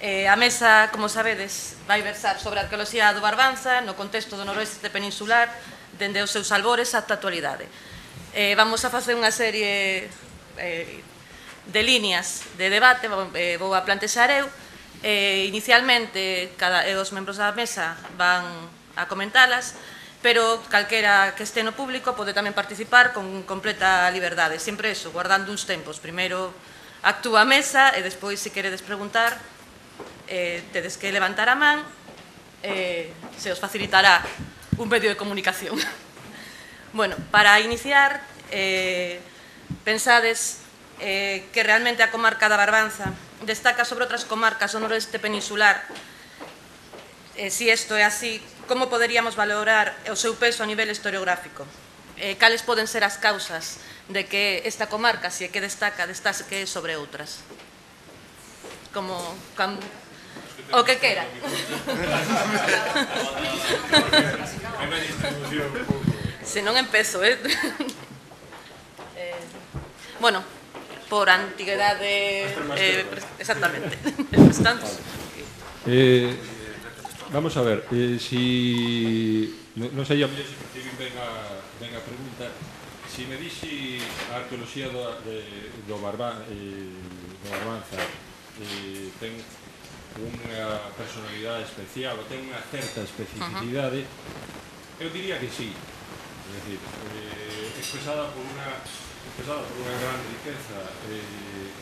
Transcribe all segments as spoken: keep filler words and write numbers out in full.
A mesa, como sabedes, vai versar sobre a arqueoloxía do Barbanza no contexto do noroeste peninsular dende os seus albores ata a actualidade. Vamos a facer unha serie de líneas de debate, vou a plantexar eu. Inicialmente, os membros da mesa van a comentalas, pero calquera que este no público pode tamén participar con completa liberdade, sempre eso, guardando uns tempos. Primeiro actúa a mesa e despois, se queredes preguntar, tedes que levantar a man, se os facilitará un medio de comunicación. Bueno, para iniciar, pensades que realmente a comarca da Barbanza destaca sobre outras comarcas do noroeste peninsular. Se isto é así, como poderíamos valorar o seu peso a nivel historiográfico? Cales poden ser as causas de que esta comarca, se é que destaca, destaque sobre outras? Como... o que quera. Se non empezo, eh? Bueno, por antigüedade... exactamente. Vamos a ver, si... non sei a mellor se percibín ben a pregunta. Si me dixi a arqueoloxía do Barbanza ten unha personalidade especial ou ten unha certa especificidade, eu diría que sí. É dicir, expresada por unha gran riqueza e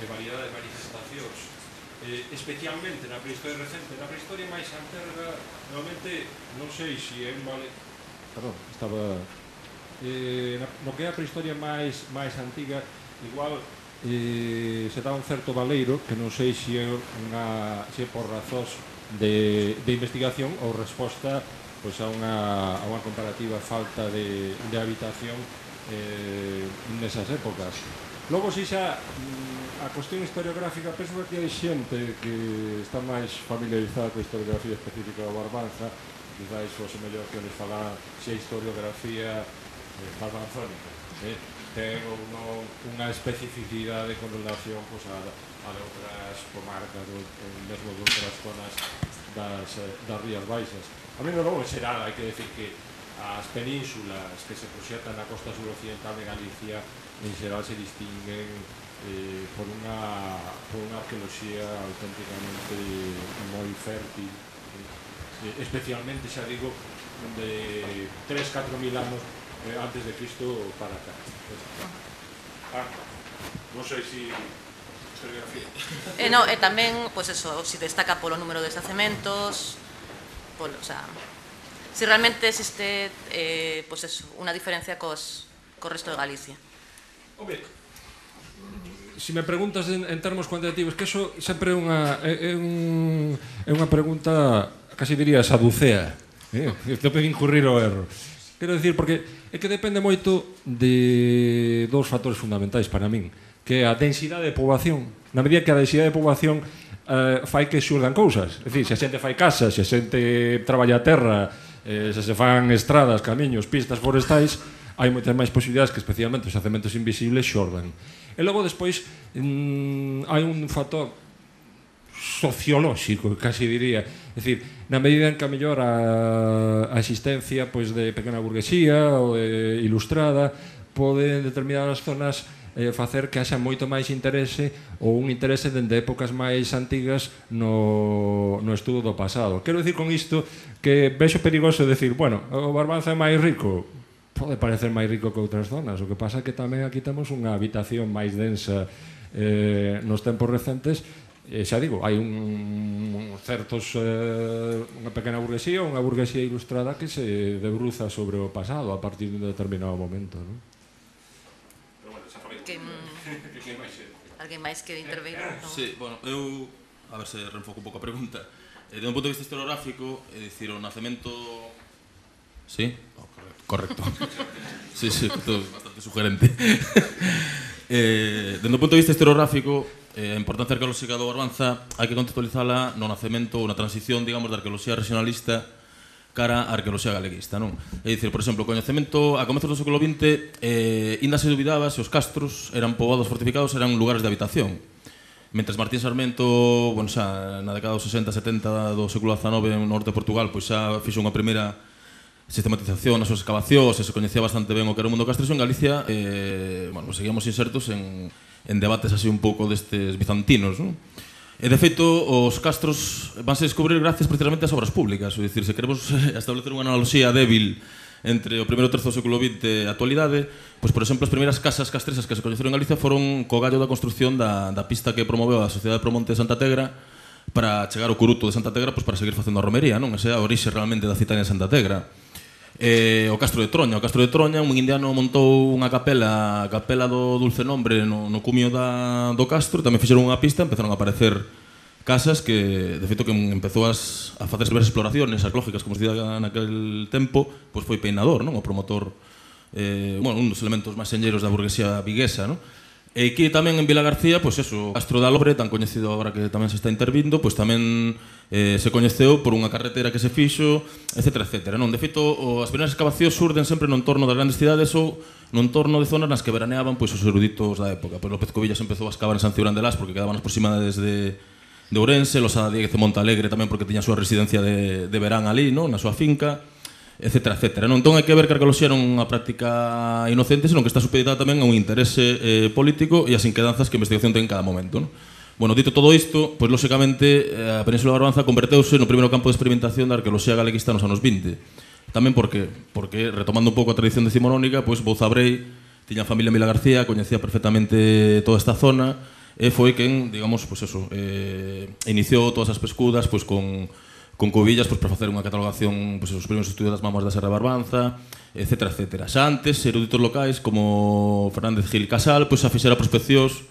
variedade de manifestacións, especialmente na prehistoria recente. Na prehistoria máis anterga, normalmente, non sei se é un vale... Perdón, estaba... No que é a prehistoria máis antiga, igual... se dá un certo valeiro que non sei se é por razóns de investigación ou resposta a unha comparativa falta de habitación nesas épocas. Logo, se xa a cuestión historiográfica, penso que hai xente que está máis familiarizada coa historiografía específica do Barbanza, quizás o mellor que les falar se a historiografía barbanzónica ten unha especificidade con relación a outras comarcas, mesmo de outras zonas das Rías Baixas. A mí, logo, en xeral, hai que decir que as penínsulas que se proxectan na costa suroccidental de Galicia en xeral se distinguen por unha arqueoloxía auténticamente moi fértil, especialmente, xa digo, de tres a catro mil anos antes de Cristo para cá. Non sei se... E tamén, pois eso, se destaca polo número de xacementos, polo, o sea, se realmente existe, pois eso, unha diferencia co resto de Galicia. Home, se me preguntas en termos cuantitativos, que iso sempre é unha pregunta, casi diría, saducea. Te pode incurrir o erro. Quero dicir, porque é que depende moito de dous factores fundamentais para min, que é a densidade de poboación. Na medida que a densidade de poboación fai que xurdan cousas. É dicir, se a xente fai casas, se a xente traballa a terra, se se fan estradas, camiños, pistas forestais, hai moitas máis posibilidades que especialmente os xacementos invisibles xordan. E logo, despois, hai un factor sociolóxico, casi diría. É dicir, na medida en que a mellor a existencia de pequena burguesía ou ilustrada pode en determinadas zonas facer que haxa moito máis interese ou un interese dende épocas máis antigas no estudo do pasado. Quero dicir con isto que vexo perigoso decir, bueno, o Barbanza é máis rico, pode parecer máis rico que outras zonas, o que pasa é que tamén aquí temos unha habitación máis densa nos tempos recentes. Xa digo, hai un certos unha pequena burguesía ou unha burguesía ilustrada que se debruza sobre o pasado a partir de un determinado momento, non? Alguén máis que interveir? Sí, bueno, eu a ver se reenfoco un pouco a pregunta. De un punto de vista historiográfico, é dicir, o nacemento... Sí? Correcto. Sí, sí, bastante sugerente. Dende un punto de vista historiográfico, a importancia arqueolóxica do Barbanza hai que contextualizala no nacemento ou na transición, digamos, da arqueoloxía regionalista cara á arqueoloxía galeguista, non? É dicir, por exemplo, o coñecemento a comezos do século vinte, inda se dubidaba se os castros eran poboados fortificados, eran lugares de habitación. Mentres Martín Sarmiento, bueno, xa na década dos sesenta setenta do século dezanove no norte de Portugal, pois xa fixo unha primeira sistematización nas súas excavacións e se coñecía bastante ben o que era o mundo castreso. En Galicia, eh, bueno, seguíamos insertos en, en debates así un pouco destes bizantinos, non? E, de feito, os castros vanse descubrir gracias precisamente ás obras públicas. É dicir, se queremos establecer unha analoxía débil entre o primeiro terzo do século vinte e a actualidade, pois, por exemplo, as primeiras casas castresas que se coñeceron en Galicia foron co gallo da construción da, da pista que promoveu a Sociedade Promonte de Santa Tegra para chegar ao Curuto de Santa Tegra, pois, para seguir facendo a romería, non? Esa é a orixe realmente da citania de Santa Tegra. Eh, o Castro de Troña. O Castro de Troña, un indiano montou unha capela, a capela do Dulce Nombre no, no cumio da, do Castro, tamén fixeron unha pista, empezaron a aparecer casas que, de feito, que empezou as, a facer diversas exploraciones arqueológicas, como se dicía naquel tempo, pois foi Peinador, non? O promotor, eh, bueno, un dos elementos máis señeiros da burguesía viguesa, non? E aquí tamén en Vila García, pois eso, o Castro da Lobre, tan coñecido agora que tamén se está intervindo, pois tamén eh, se coñeceu por unha carretera que se fixo, etcétera, etcétera, non? De feito, as primeiras excavacións surden sempre no entorno das grandes cidades ou no entorno de zonas nas que veraneaban pois os eruditos da época. Pois López Covillas empezou a excavar en San Cibrán de Las porque quedaban as proximidades de, de Ourense, Losada Dieguez de Montalegre tamén porque tiña a súa residencia de, de verán ali, non? Na súa finca, etcétera, etcétera. Non? Entón hai que ver que a arqueoloxía non é unha práctica inocente, senón que está supeditada tamén a un interese eh, político e as inquedanzas que a investigación ten en cada momento. Non? Bueno, dito todo isto, pois lóxicamente a Península de Barbanza converteuse no primeiro campo de experimentación da arqueoloxía galeguista nos anos vinte. Tamén porque, porque retomando un pouco a tradición decimonónica, pois Bouza Brei tiña a familia Mila García, coñecía perfectamente toda esta zona e foi quen, digamos, pois eso, eh, iniciou todas as pescudas pois con con Covillas pois, para facer unha catalogación, pois, os primeiros estudios das mamas da Serra de Barbanza, etcétera, etcétera. Xa antes, eruditos locais como Fernández Gil Casal, pois, xa fixera prospeccións,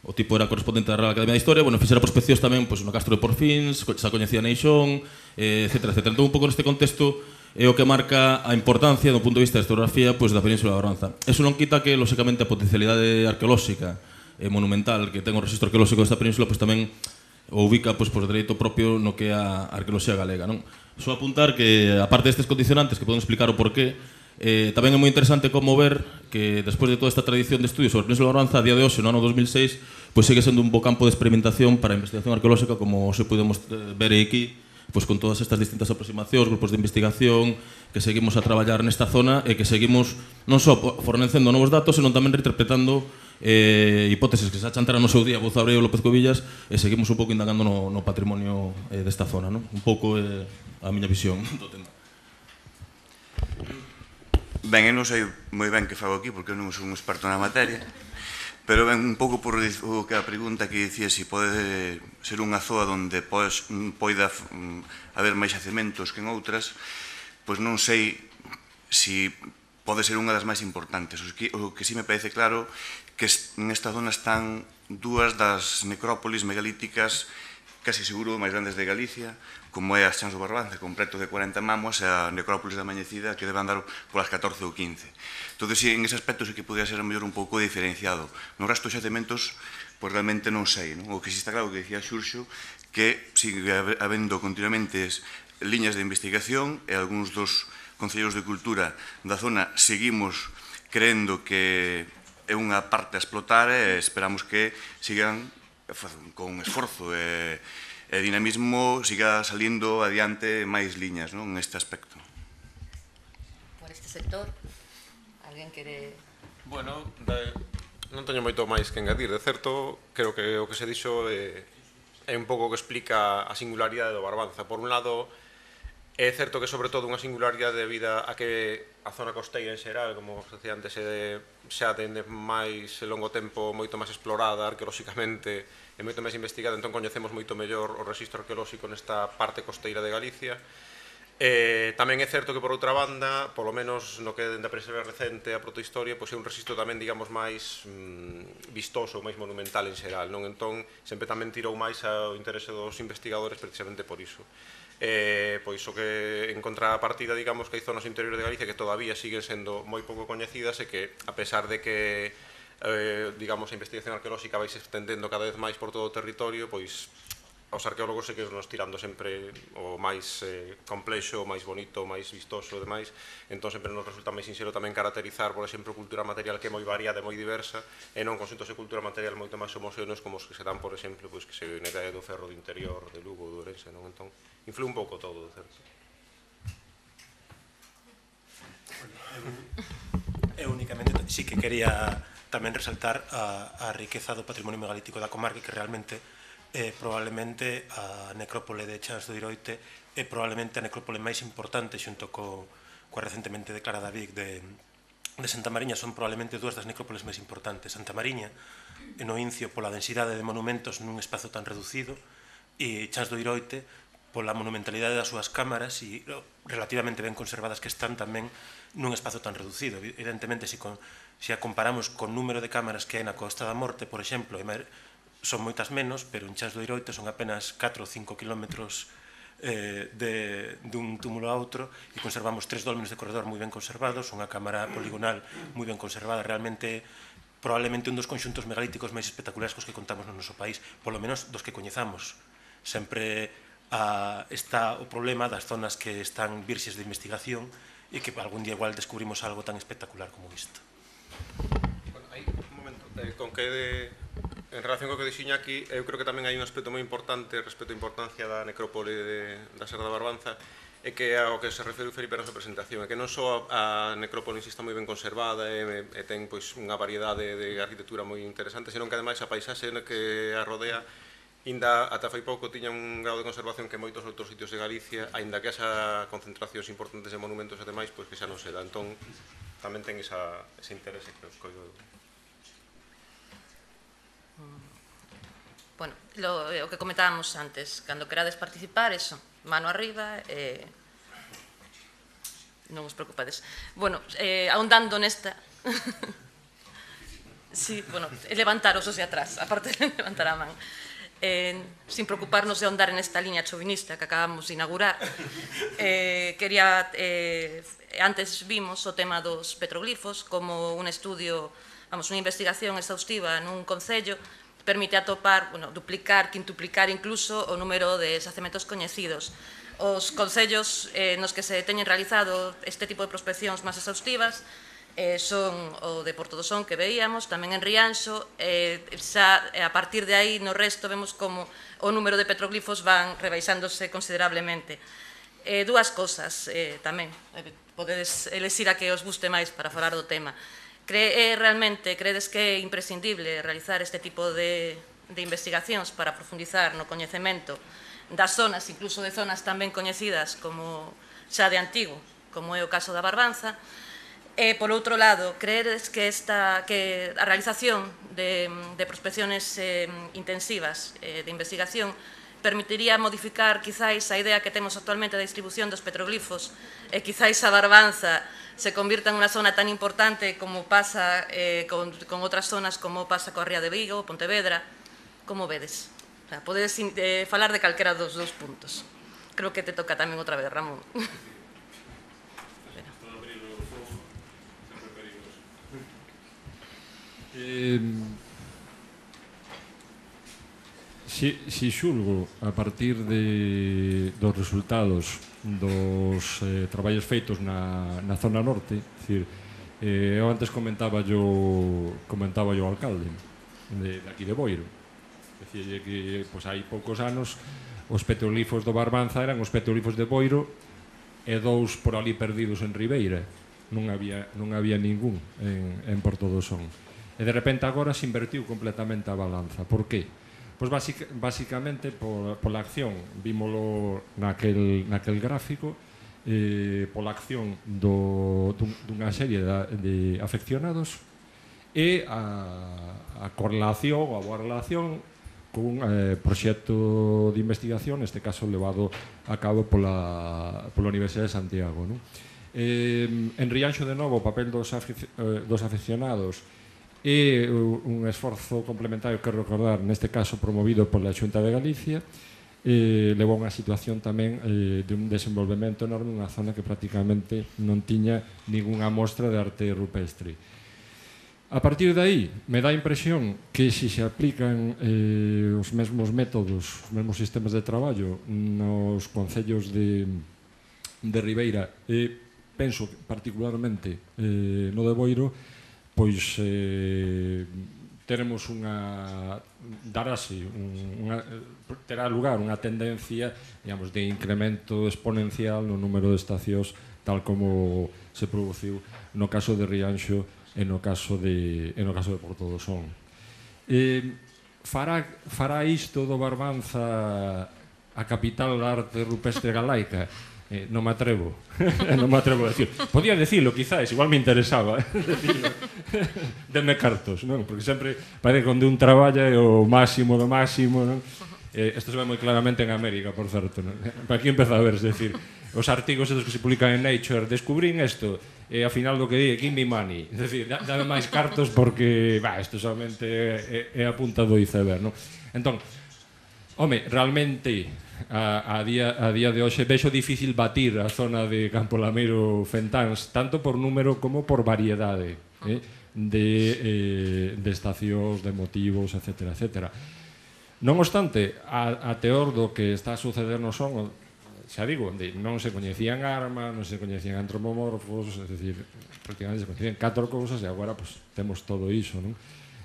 o tipo era correspondente da Real Academia de Historia, bueno, fixera prospeccións tamén pois, no Castro de Porfins, xa coñecía Neixón, etcétera, etcétera. Entón, un pouco neste contexto é o que marca a importancia do punto de vista da historiografía pois, da Península de Barbanza. Eso non quita que, lóxicamente, a potencialidade arqueolóxica e monumental que ten o registro arqueolóxico desta península pois, tamén o ubica pois, por dereito propio no que é a arqueoloxía galega. Non? Só apuntar que, aparte destes condicionantes que poden explicar o porqué, eh, tamén é moi interesante como ver que despois de toda esta tradición de estudios sobre a Península de Barbanza, a día de hoxe, no ano dos mil seis, pois segue sendo un bo campo de experimentación para a investigación arqueolóxica, como se podemos ver aquí, pois con todas estas distintas aproximacións, grupos de investigación que seguimos a traballar nesta zona e que seguimos non só fornecendo novos datos, senón tamén reinterpretando eh, hipótesis que se achantaran no seu día Bouza Brei e López Covillas e seguimos un pouco indagando no, no patrimonio eh, desta zona, non? Un pouco eh, a miña visión do tema. Ben, eu non sei moi ben que fago aquí porque eu non sou un experto na materia, pero ben, un pouco por o que a pregunta que dicía se si pode ser unha zoa onde pois, poida haber máis yacementos que en outras, pois non sei se si pode ser unha das máis importantes. O que, o que sí me parece claro que nesta zona están dúas das necrópolis megalíticas casi seguro máis grandes de Galicia, como é a Chans do Barbanza, con preto de cuarenta mamos, e a necrópolis da Mañecida, que debe andar polas catorce ou quince. Entón, sí, en ese aspecto sí que podría ser mellor un pouco diferenciado. No resto dos xacementos, pois realmente non sei. Non? O que sí está claro que decía Xurxo, que sigue habendo continuamente liñas de investigación e algúns dos concellos de cultura da zona seguimos creendo que é unha parte a explotar e esperamos que sigan con esforzo e, e dinamismo siga salindo adiante máis liñas, non, neste aspecto. Por este sector, alguén quere... Bueno, de, non teño moito máis que engadir. De certo, creo que o que se dixo é, é un pouco que explica a singularidade do Barbanza. Por un lado, é certo que sobre todo unha singularidade debido a que a zona costeira en xeral, como se decía antes, é, xa tende máis longo tempo moito máis explorada arqueolóxicamente e moito máis investigada, entón coñecemos moito mellor o rexistro arqueolóxico nesta parte costeira de Galicia. Eh, tamén é certo que por outra banda, polo menos no que dende a preserva recente a protohistoria, pois é un rexistro tamén, digamos, máis mm, vistoso, máis monumental en xeral, non? Entón, sempre tamén tirou máis ao interese dos investigadores precisamente por iso. Eh, pois o que en contrapartida, digamos, que hai zonas interiores de Galicia que todavía siguen sendo moi pouco coñecidas e que, a pesar de que eh, digamos, a investigación arqueolóxica vai se extendendo cada vez máis por todo o territorio, pois os arqueólogos sí que nos tirando sempre o máis eh, complexo, o máis bonito, o máis vistoso e demais, entón sempre nos resulta máis sincero tamén caracterizar, por exemplo, cultura material que é moi variada e moi diversa, e non con xuntos de cultura material moito máis homogéneos como os que se dan, por exemplo, pois, que se na idea do ferro do interior, de Lugo, do Ourense, non? Entón, influe un pouco todo, de certo. Eu únicamente sí que quería tamén resaltar a, a riqueza do patrimonio megalítico da comarca, que realmente eh, probablemente a necrópole de Chans do Iroite é probablemente a necrópole máis importante xunto co, coa recentemente declarada Vic de, de Santa Mariña. Son probablemente dúas das necrópoles máis importantes. Santa Mariña, no Incio, pola densidade de monumentos nun espazo tan reducido, e Chans do Iroite pola monumentalidade das súas cámaras e relativamente ben conservadas que están tamén nun espazo tan reducido. Evidentemente, se, con, se a comparamos con número de cámaras que hai na Costa da Morte, por exemplo, son moitas menos, pero en Chans do Iroite son apenas catro ou cinco kilómetros eh, de, dun túmulo a outro, e conservamos tres dólmenes de corredor moi ben conservados, unha cámara poligonal moi ben conservada, realmente probablemente un dos conxuntos megalíticos máis espectaculares cos que contamos no noso país, polo menos dos que coñezamos. Sempre a, está o problema das zonas que están virxes de investigación e que algún día igual descubrimos algo tan espectacular como isto. Bueno, hai un momento, eh, con que de... En relación co que dixo Iñaki, eu creo que tamén hai un aspecto moi importante respecto á importancia da necrópole de, da Serra da Barbanza, é que ao que se referiu Felipe na súa presentación, é que non só a necrópole está moi ben conservada e, e ten pois, unha variedade de arquitectura moi interesante, senón que ademais a paisaxe que a rodea ainda ata fai pouco tiña un grado de conservación que moitos outros sitios de Galicia, aínda que esa concentracións importantes de monumentos e demais, pois que xa non se dá. Entón, tamén ten esa, ese interese que os coido. Bueno, lo, o que comentábamos antes, cando querades participar, eso, mano arriba, eh, non os preocupades. Bueno, eh, ahondando nesta... sí, bueno, levantaros os de atrás, aparte de levantar a man. Eh, sin preocuparnos de ahondar en esta línea chauvinista que acabamos de inaugurar, eh, quería, eh, antes vimos o tema dos petroglifos como un estudio, vamos, unha investigación exhaustiva nun concello permite atopar, bueno, duplicar, quintuplicar incluso o número de xacementos coñecidos. Os concellos eh, nos que se teñen realizado este tipo de prospeccións máis exhaustivas eh, son o de Portodosón que veíamos, tamén en Rianxo, eh, xa a partir de aí no resto vemos como o número de petroglifos van rebaixándose considerablemente. Eh, dúas cosas eh, tamén, eh, podedes elexir a que os guste máis para falar do tema. Cree, realmente, credes que é imprescindible realizar este tipo de, de investigacións para profundizar no coñecemento das zonas, incluso de zonas tan ben coñecidas como xa de antigo, como é o caso da Barbanza? E, por outro lado, creedes que, esta, que a realización de, de prospecciones eh, intensivas eh, de investigación permitiría modificar quizáis a idea que temos actualmente da distribución dos petroglifos e quizáis a Barbanza se convirta en unha zona tan importante como pasa eh, con, con outras zonas como pasa coa Ría de Vigo, Pontevedra? Como vedes? O sea, podedes eh, falar de calquera dos dos puntos. Creo que te toca tamén outra vez, Ramón. Eh, si, si xulgo a partir de, dos resultados dos eh, traballos feitos na, na zona norte, decir, eh, eu antes comentaba yo comentaba yo ao alcalde de, de aquí de Boiro, decir, que pues, hai poucos anos os petroglifos do Barbanza eran os petroglifos de Boiro e dous por ali perdidos en Ribeira, non había, non había ningún en, en Portodosón. E de repente agora se invertiu completamente a balanza. Por qué? Pois basic, basicamente por, pola acción, vímolo naquel, naquel gráfico, eh, pola acción do, dun, dunha serie de, de afeccionados e a, a correlación ou a boa relación cun eh, proxecto de investigación, neste caso levado a cabo pola, pola Universidade de Santiago, non? Eh, en Rianxo, de novo, o papel dos, afic, eh, dos afeccionados e un esforzo complementario que recordar, neste caso promovido pola Xunta de Galicia, eh, levou a unha situación tamén eh, de un desenvolvemento enorme nunha zona que prácticamente non tiña ningunha mostra de arte rupestre. A partir de aí, me dá a impresión que se se aplican eh, os mesmos métodos, os mesmos sistemas de traballo nos concellos de, de Ribeira, e penso particularmente eh, no de Boiro, pois eh, teremos unha darase unha, terá lugar unha tendencia, digamos, de incremento exponencial no número de estacións, tal como se produciu no caso de Rianxo e no caso de e no caso de Porto do Son. Eh, fará fará isto do Barbanza a capital da arte rupestre galaica? Eh, non me atrevo. non me atrevo a decir. Podía decirlo, quizás, igual me interesaba, eh, decirlo. Denme cartos, non? Porque sempre parece que onde un traballa é o máximo do máximo, non? Eh, isto se ve moi claramente en América, por certo, non? Para aquí empeza a ver, es decir, os artigos esos que se publican en Nature, descubrín isto, e ao final do que di, give me money, es decir, dame máis cartos porque, bah, isto solamente é, é a punta do iceberg, non? Entón, home, realmente, a, a, día, a día de hoxe, vexo difícil batir a zona de Campo Lameiro Fentáns, tanto por número como por variedade, eh, de, eh, de estacións, de motivos, etcétera, etcétera. Non obstante, a, a teor do que está a suceder no son, xa digo, onde non se coñecían armas, non se coñecían antropomorfos, é dicir, prácticamente se coñecían catro cousas e agora pues, temos todo iso, non?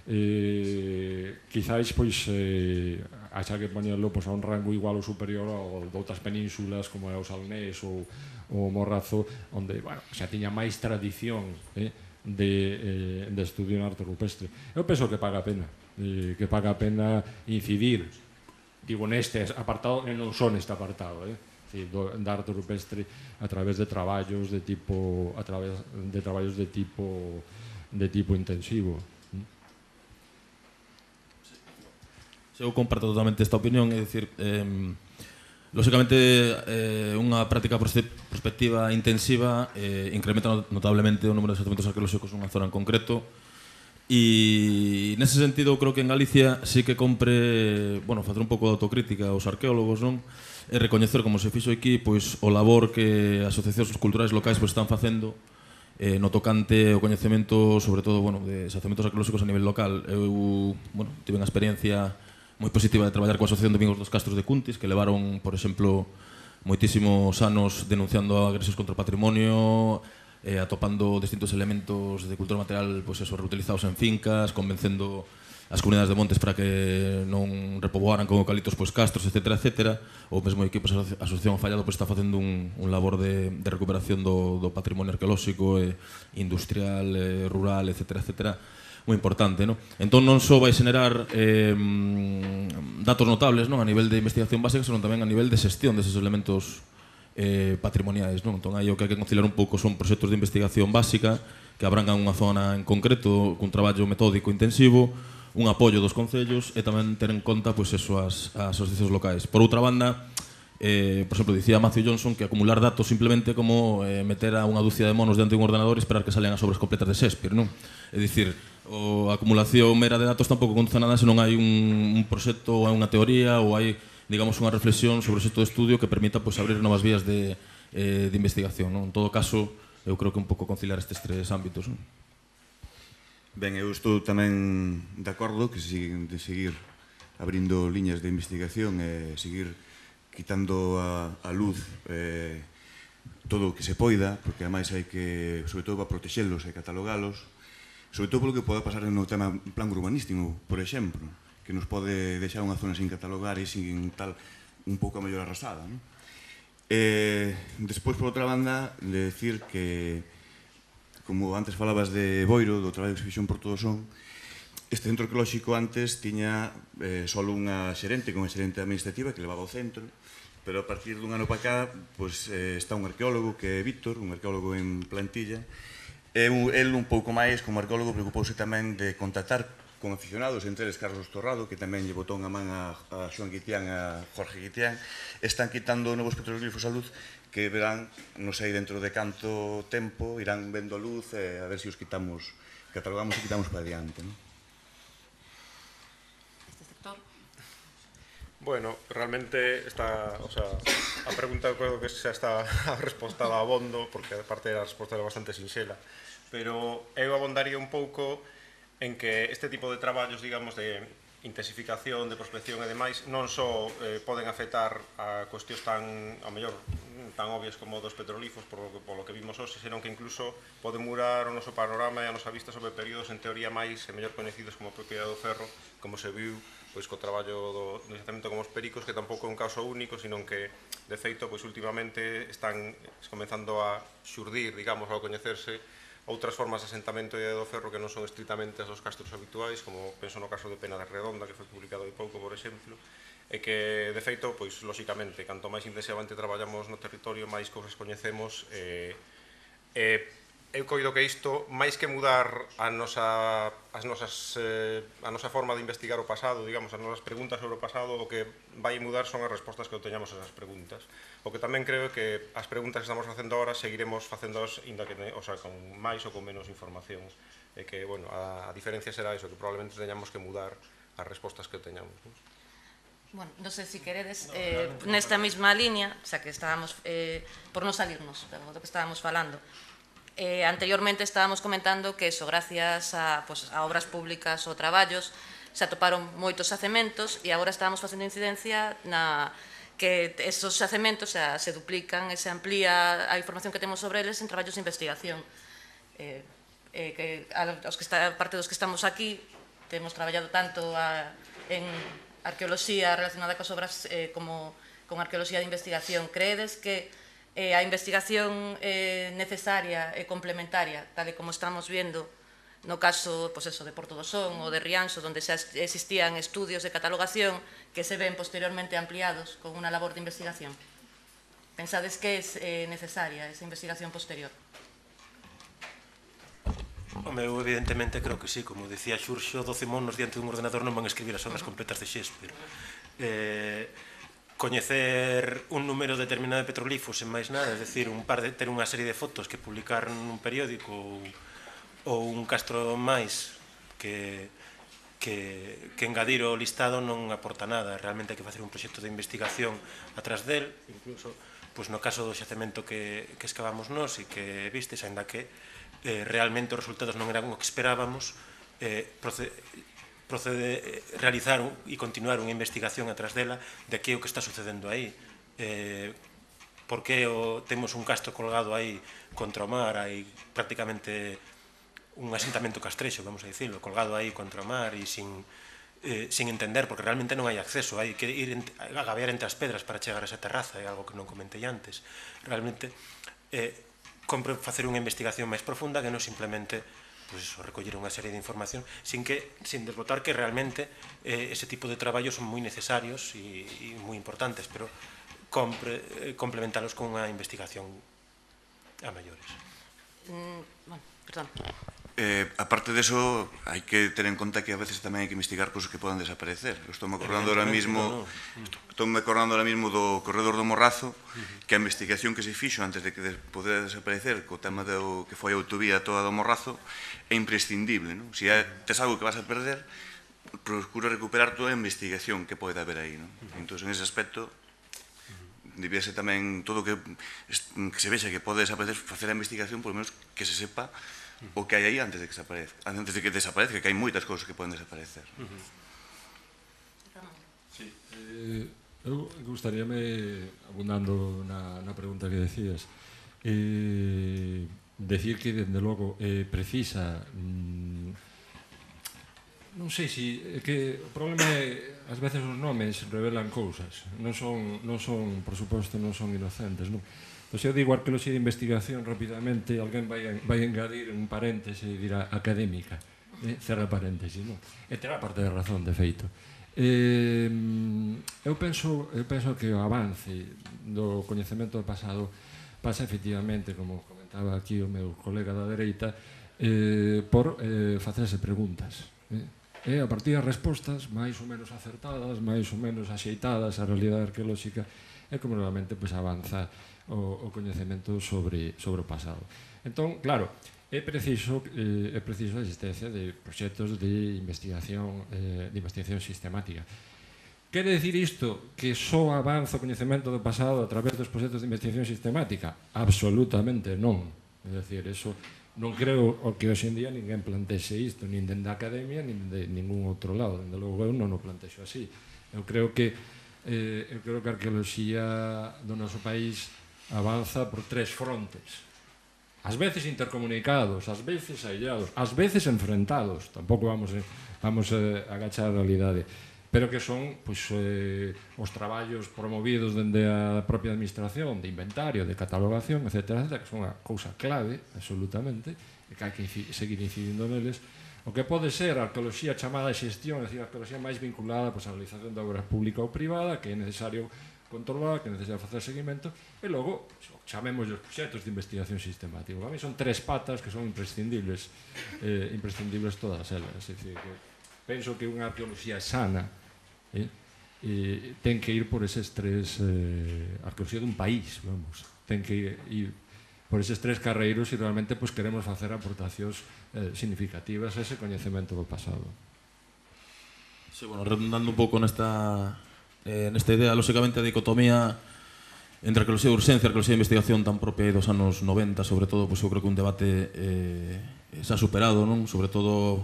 Eh, quizáis, pois, eh, haxa que poñerlo pues, a un rango igual ou superior ao de outras penínsulas como é o Salnés ou o Morrazo, onde, bueno, xa tiña máis tradición eh, de, eh, de estudio en arte rupestre. Eu penso que paga a pena, eh, que paga a pena incidir, digo, neste apartado e non só neste apartado, eh? Da arte rupestre a través de traballos de tipo a través de traballos de tipo de tipo intensivo. Eu comparto totalmente esta opinión, é dicir, eh, lógicamente eh, unha práctica prospectiva intensiva eh, incrementa notablemente o número de xacementos arqueolóxicos nunha zona en concreto. E nese sentido creo que en Galicia sí que compre, bueno, facer un pouco de autocrítica aos arqueólogos, non? E recoñecer, como se fixo aquí, pois o labor que as asociacións culturais locais pois están facendo eh, no tocante o coñecemento, sobre todo, bueno, de xacementos arqueolóxicos a nivel local. Eu, bueno, tive unha experiencia moi positiva de traballar coa Asociación de Amigos dos Castros de Cuntis, que levaron, por exemplo, moitísimos anos denunciando agresións contra o patrimonio, eh, atopando distintos elementos de cultura material, pois eso, reutilizados en fincas, convencendo as comunidades de montes para que non repoboaran con eucaliptos pois castros, etcétera, etcétera. O mesmo equipo da Asociación Fallado pois está facendo un, un labor de, de recuperación do, do patrimonio arqueolóxico, eh, industrial, eh, rural, etcétera, etcétera, moi importante, non? Entón non só vai xenerar eh, datos notables, non, a nivel de investigación básica, senón tamén a nivel de xestión deses elementos eh, patrimoniais, non? Entón aí o que hai que conciliar un pouco son proxectos de investigación básica que abrangan unha zona en concreto cun traballo metódico intensivo, un apoio dos concellos e tamén ter en conta pois, eso, as, as asociacións locais. Por outra banda, eh, por exemplo, dicía Matthew Johnson que acumular datos simplemente como eh, meter a unha dúcia de monos dentro de un ordenador e esperar que salen as obras completas de Shakespeare, non? É dicir, o, a acumulación mera de datos tampouco conta nada se non hai un, un proxecto ou hai unha teoría ou hai, digamos, unha reflexión sobre o proxecto de estudio que permita pois, abrir novas vías de, eh, de investigación, non? En todo caso, eu creo que un pouco conciliar estes tres ámbitos, non? Ben, eu estou tamén de acordo que se de seguir abrindo liñas de investigación e seguir quitando a, a luz eh, todo o que se poida, porque ademais hai que, sobre todo, para protexelos e catalogalos, sobre todo polo que poda pasar no tema plan urbanístico, por exemplo, que nos pode deixar unha zona sin catalogar e sin tal, un pouco a mellor arrasada, non? Eh, despois, por outra banda, de decir que como antes falabas de Boiro, do traballo que se fixo en Porto do Son, este centro arqueolóxico antes tiña eh, só unha xerente, con unha xerente administrativa que levaba o centro, pero a partir dun ano para cá pues, eh, está un arqueólogo que é Víctor, un arqueólogo en plantilla, e el un pouco máis como arqueólogo preocupouse tamén de contactar con aficionados, entre eles Carlos Torrado, que tamén lle botou unha man a, a Xoan Guitián, a Jorge Guitián, están quitando novos petroglifos a luz que verán, non sei, dentro de canto tempo, irán vendo a luz e a ver se os quitamos, catalogamos e quitamos para adiante, non? Este sector? Bueno, realmente está, o sea, a pregunta creo que xa está respostada a abondo, porque a parte da resposta era bastante sinxela, pero eu abondaría un pouco en que este tipo de traballos, digamos, de intensificación, de prospección e demais, non só eh, poden afectar a cuestións tan, ao mellor, tan obvias como dos petrolíferos, por lo que, por lo que vimos hoxe, senón que incluso poden murar o noso panorama e a nosa vista sobre períodos en teoría máis e mellor coñecidos como a propiedade do ferro, como se viu pois co traballo do, do xacemento como os pericos, que tampouco é un caso único, senón que, de feito, pois últimamente están comenzando a xurdir, digamos, ao coñecerse outras formas de asentamento e do ferro que non son estritamente as dos castros habituais, como penso no caso de Pena de Redonda, que foi publicado hai pouco, por exemplo, e que, de feito, pois, lóxicamente, canto máis intensivamente traballamos no territorio, máis cousas coñecemos, e, e eu coido que isto, máis que mudar a nosa, as nosas, eh, a nosa forma de investigar o pasado, digamos, as nosas preguntas sobre o pasado, o que vai mudar son as respostas que obteñamos a esas preguntas. O que tamén creo que as preguntas que estamos facendo agora seguiremos facéndoas, inda que, o sea, con máis ou con menos información. E que, bueno, a, a diferencia será iso, que probablemente teñamos que mudar as respostas que obteñamos. Non? Bueno, non sei se queredes, eh, nesta mesma línea, xa que estábamos, eh, por non salirnos do que estábamos falando, Eh, anteriormente estábamos comentando que eso, gracias a, pues, a obras públicas ou traballos, se atoparon moitos xacementos e agora estábamos facendo incidencia na que esos xacementos xa, se duplican e se amplía a información que temos sobre eles en traballos de investigación. Eh, eh, que a, os que está, parte dos que estamos aquí temos traballado tanto a, en arqueoloxía relacionada coas obras eh, como con arqueoloxía de investigación. Creedes que Eh, a investigación eh, necesaria e complementaria, tal e como estamos vendo no caso pues eso, de Porto do Son ou de Rianxo, onde xa existían estudios de catalogación que se ven posteriormente ampliados con unha labor de investigación? Pensades que é eh, necesaria esa investigación posterior? Home, eu evidentemente creo que sí, como dicía Xurxo, doce monos diante dun ordenador non van a escribir as obras completas de Shakespeare. Eh... coñecer un número determinado de petrolíferos en máis nada, é dicir, un par de, ter unha serie de fotos que publicar nun periódico ou, ou un castro máis que, que, que engadir o listado non aporta nada. Realmente hai que facer un proxecto de investigación atrás del, incluso pois no caso do xacemento que, que excavamos nós e que vistes, ainda que eh, realmente os resultados non eran o que esperábamos, eh, procede procede realizar e continuar unha investigación atrás dela de que é o que está sucedendo aí. Eh, por que o, temos un castro colgado aí contra o mar, hai prácticamente un asentamento castrexo, vamos a dicirlo, colgado aí contra o mar e sin, eh, sin entender, porque realmente non hai acceso, hai que ir a gabear entre as pedras para chegar a esa terraza, é algo que non comentei antes. Realmente, eh, compre facer unha investigación máis profunda que non simplemente pues eso, recoller unha serie de información sin que sin desbotar que realmente eh, ese tipo de traballos son moi necesarios e, e moi importantes, pero compre, eh, complementalos con unha investigación a maiores. Mm, bueno, perdón. Eh, aparte de eso, hai que ter en conta que a veces tamén hai que investigar cosas que poden desaparecer. Estou me acordando ahora mismo, estou me acordando ahora mismo do corredor do Morrazo, que a investigación que se fixo antes de que poder desaparecer co tema do que foi a autovía toda do Morrazo é imprescindible, non? Se tes algo que vas a perder, procura recuperar toda a investigación que pode haber aí, non? Entón, en ese aspecto, debiese tamén todo que, que se vexa que pode desaparecer, facer a investigación, por lo menos que se sepa o que hai aí antes de que desaparezca, antes de que desaparezca, que hai moitas cousas que poden desaparecer. Sí, eh, eu gustaríame, abundando na, na pregunta que decías, eh, decir que, dende logo, eh, precisa mm, non sei se é que o problema é ás veces os nomes revelan cousas, non son, non son por suposto, non son inocentes, non? Pois eu digo arqueoloxía de investigación rapidamente, alguén vai, vai engadir un paréntese e dirá académica, eh? cerra paréntese, non? E terá parte de razón, de feito. Eh, eu penso, eu penso que o avance do coñecemento do pasado pasa efectivamente, como comentaba aquí o meu colega da dereita, eh, por eh, facerse preguntas. Eh? E a partir das respostas máis ou menos acertadas, máis ou menos axeitadas á realidade arqueolóxica, é como normalmente pues, avanza o, o coñecemento sobre, sobre o pasado. Entón, claro, é preciso, eh, é preciso a existencia de proxectos de investigación, eh, de investigación sistemática. Quere dicir isto que só avanza o coñecemento do pasado a través dos proxectos de investigación sistemática? Absolutamente non. É dicir, eso non creo o que hoxe en día ninguén plantexe isto, nin dende a academia, nin de ningún outro lado. Dende logo eu non o plantexo así. Eu creo que eh, eu creo que a arqueoloxía do noso país avanza por tres frontes. Ás veces intercomunicados, ás veces aillados, ás veces enfrentados. Tampouco vamos, vamos a agachar a realidade. Pero que son pois, eh, os traballos promovidos dende a propia administración, de inventario, de catalogación, etcétera, etcétera, que son unha cousa clave, absolutamente, e que hai que seguir incidindo neles. O que pode ser a arqueoloxía chamada de xestión, é dicir, a arqueoloxía máis vinculada pois, a realización de obra pública ou privada, que é necesario controlar, que é necesario facer seguimento, e logo, chamemos os proxectos de investigación sistemática. Para mí son tres patas que son imprescindibles, eh, imprescindibles todas elas. É dicir, que penso que unha arqueoloxía sana Eh? E ten que ir por eses tres eh, arqueoloxía dun país, vamos, ten que ir por eses tres carreiros e realmente pues, queremos facer aportacións eh, significativas a ese coñecemento do pasado. Sí, bueno, redundando un pouco nesta eh, nesta idea, lóxicamente a dicotomía entre arqueoloxía de urxencia e arqueoloxía de investigación tan propia dos anos noventa, sobre todo, pues, eu creo que un debate eh, se ha superado, non? Sobre todo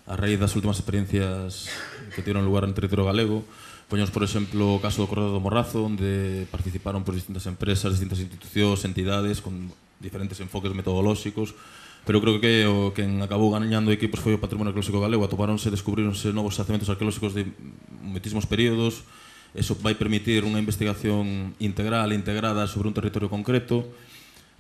a raíz das últimas experiencias que tiveron lugar en territorio galego. Poñemos, por exemplo, o caso do Corredor do Morrazo, onde participaron por distintas empresas, distintas institucións, entidades, con diferentes enfoques metodolóxicos, pero creo que o que acabou gañando aquí foi o patrimonio arqueolóxico galego. Atopáronse, descubríronse novos xacementos arqueolóxicos de moitísimos períodos. Eso vai permitir unha investigación integral e integrada sobre un territorio concreto.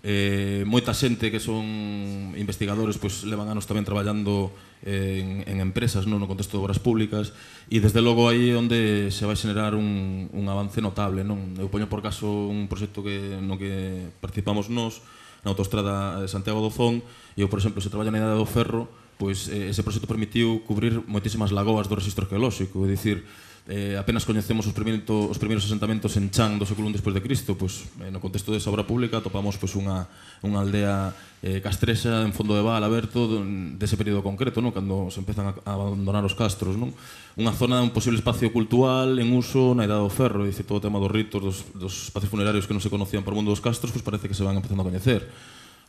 Eh, moita xente que son investigadores pues, levan anos tamén traballando en, en empresas, non, no contexto de obras públicas, e desde logo aí é onde se vai xenerar un, un avance notable, non? Eu poño por caso un proxecto que, no que participamos nós na autoestrada de Santiago do Zón, e eu, por exemplo, se traballa na idade do ferro, pois ese proxecto permitiu cubrir moitísimas lagoas do registro arqueolóxico, é dicir, eh, apenas coñecemos os, os primeiros asentamentos en Chan do século I despois de Cristo, pois, eh, no contexto desa obra pública topamos pois, unha, unha aldea eh, castrexa en fondo de val aberto dese período concreto, non? Cando se empezan a, a abandonar os castros, non? Unha zona, un posible espacio cultural en uso na idade do ferro, dicir, todo o tema dos ritos, dos, dos espacios funerarios que non se conocían por mundo dos castros, pois parece que se van empezando a coñecer.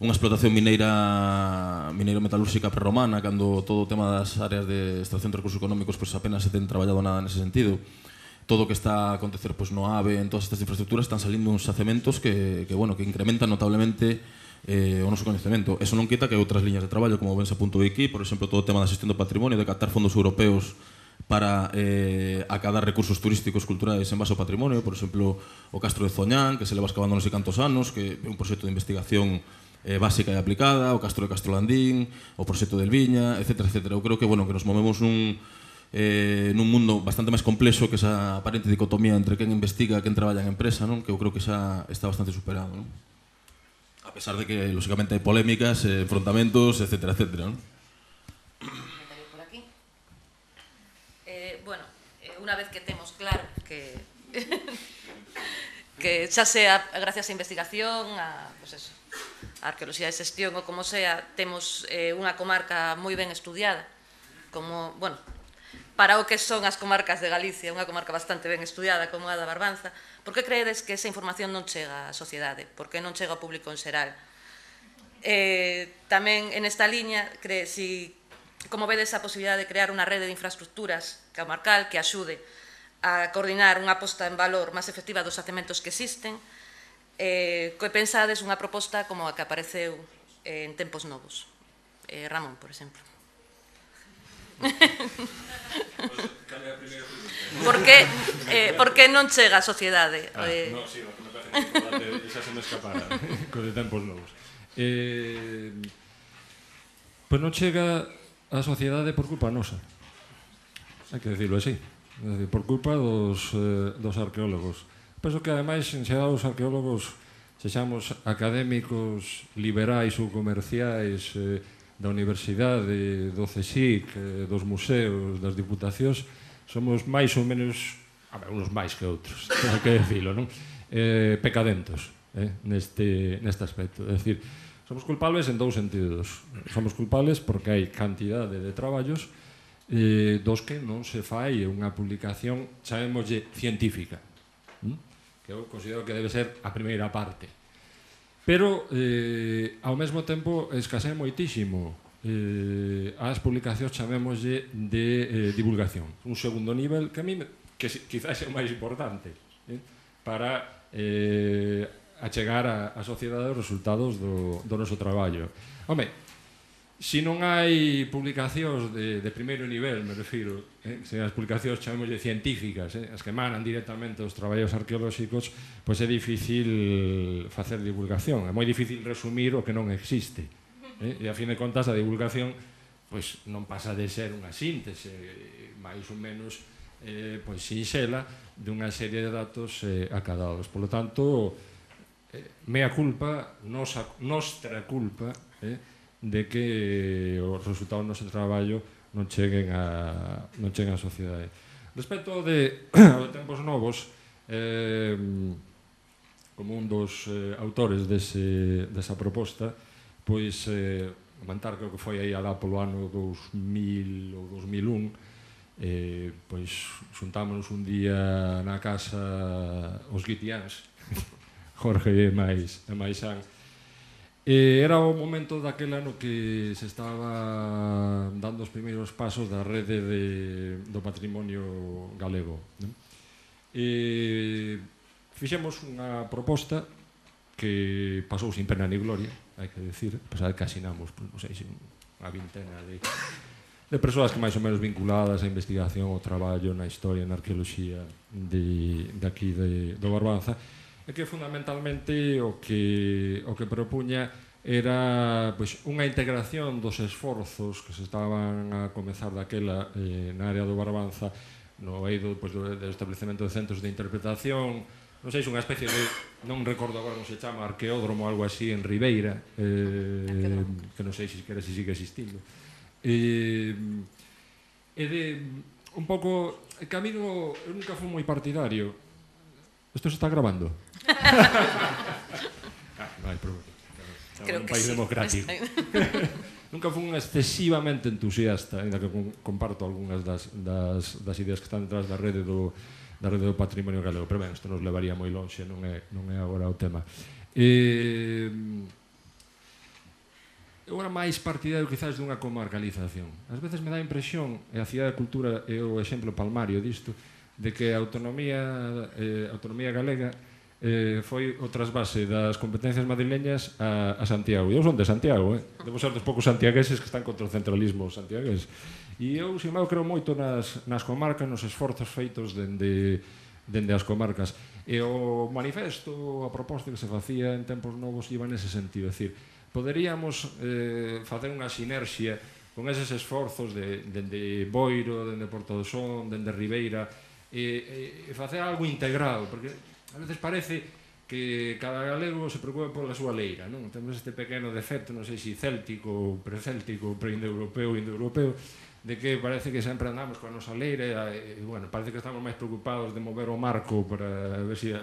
Unha explotación mineira mineiro-metalúrxica prerromana, cando todo o tema das áreas de extracción de recursos económicos pues, apenas se ten traballado nada nese sentido. Todo o que está a acontecer pues, no AVE, en todas estas infraestructuras, están salindo uns xacementos que, que, bueno, que incrementan notablemente eh, o noso coñecemento. Eso non quita que outras liñas de traballo, como ben se apuntou aquí, por exemplo, todo o tema da xestión do patrimonio, de captar fondos europeos para eh, acadar recursos turísticos culturais en base ao patrimonio, por exemplo, o Castro de Zoñán, que se leva excavando non sei cantos anos, que é un proxecto de investigación eh, básica e aplicada, o Castro de Castrolandín, o proxecto del Viña, etcétera, etcétera. Eu creo que, bueno, que nos movemos nun, eh, nun mundo bastante máis complexo que esa aparente dicotomía entre quen investiga e quen traballa en empresa, non? Que eu creo que xa está bastante superado, non? A pesar de que, lógicamente, hai polémicas, eh, enfrontamentos, etcétera, etcétera, non? Por aquí. Eh, bueno, eh, unha vez que temos claro que que xa sea gracias á investigación, a, pues eso, a arqueoloxía de xestión ou como sea, temos eh, unha comarca moi ben estudiada, como, bueno, para o que son as comarcas de Galicia, unha comarca bastante ben estudiada como a da Barbanza. Por que creedes que esa información non chega á sociedade? Por que non chega ao público en xeral? Eh, tamén en esta liña, cre, si, como vedes a posibilidade de crear unha rede de infraestructuras comarcal que axude a coordinar unha posta en valor máis efectiva dos xacementos que existen, eh, que pensades unha proposta como a que apareceu eh, en tempos novos. Eh, Ramón, por exemplo. Por que, eh, por que non chega a sociedade? Ah, eh... no, sí, no, que me parece que xa se me escapara con de tempos novos. Eh, pois non chega a sociedade por culpa nosa. Hai que decirlo así. É dicir, por culpa dos, eh, dos arqueólogos. Penso que, ademais, en xeral os arqueólogos, sexamos académicos, liberais ou comerciais, eh, da universidade, do CSIC, eh, dos museos, das diputacións, somos máis ou menos, a ver, uns máis que outros, hai que decirlo, non? Eh, pecadentos, eh, neste, neste aspecto. É dicir, somos culpables en dous sentidos. Somos culpables porque hai cantidade de traballos eh, dos que non se fai unha publicación, chamémoslle, científica, ¿m? Que eu considero que debe ser a primeira parte. pero eh, ao mesmo tempo escasea moitísimo eh, as publicacións, chamémoslle, de eh, divulgación. Un segundo nivel que a mí, que quizás é o máis importante, eh, para eh, achegar a, a sociedade os resultados do, do noso traballo. Home, se non hai publicacións de, de primeiro nivel, me refiro, eh, se as publicacións chamémoslle científicas, eh, as que emanan directamente os traballos arqueolóxicos, pois é difícil facer divulgación, é moi difícil resumir o que non existe. Eh, e a fin de contas a divulgación pois non pasa de ser unha síntese máis ou menos eh, pois sinxela dunha serie de datos eh, acadados. Por lo tanto, eh, mea culpa, nosa, nostra culpa, eh, de que os resultados do noso traballo non cheguen a, non cheguen á sociedade. Respecto de, aos tempos novos, eh, como un dos eh, autores dese, desa proposta, pois eh, comentar, creo que foi aí alá polo ano dous mil ou dous mil un, eh, pois xuntámonos un día na casa os guitiáns, Jorge e máis, e máis Xan. E era o momento daquele ano que se estaba dando os primeiros pasos da rede de, do patrimonio galego. Non? E fixemos unha proposta que pasou sin pena ni gloria, hai que decir, pesar que asinamos, non sei, unha vintena de, de persoas que máis ou menos vinculadas á investigación, ao traballo na historia, na arqueoloxía de, de aquí de, do Barbanza, e que fundamentalmente o que, o que propuña era pois, unha integración dos esforzos que se estaban a comezar daquela eh, na área do Barbanza, no eido pois, do, do establecemento de centros de interpretación, non sei, unha especie de, non recordo agora como se chama, arqueódromo ou algo así en Ribeira, eh, que non sei se quere se sigue existindo. E, e de un pouco, que a mí no, eu nunca fui moi partidario. Isto se está grabando? Ah, non hai problema. Creo un que país sí. democrático. Nunca fui un excesivamente entusiasta, ainda que comparto algunhas das, das, das ideas que están detrás da rede do, da rede do patrimonio galego, pero ben, isto nos levaría moi lonxe, non é, non é agora o tema. E, eu era máis partidario quizás dunha comarcalización. Ás veces me dá a impresión, e a Cidade da Cultura é o exemplo palmario disto, de que a autonomía, eh, autonomía galega eh, foi o trasvase das competencias madrileñas a, a Santiago. E eu son de Santiago, eh? Debo ser dos poucos santiagueses que están contra o centralismo santiagués. E eu, sin embargo, creo moito nas, nas comarcas, nos esforzos feitos dende, dende as comarcas. E o manifesto, a proposta que se facía en tempos novos iba nese sentido. É dicir, poderíamos eh, facer unha sinerxia con eses esforzos de, dende Boiro, dende Porto do Son, dende Ribeira, e, e facer algo integral, porque a veces parece que cada galego se preocupa pola súa leira, non? Temos este pequeno defecto, non sei se céltico, precéltico, pre-indoeuropeo, indoeuropeo, de que parece que sempre andamos coa nosa leira e, bueno, parece que estamos máis preocupados de mover o marco para ver se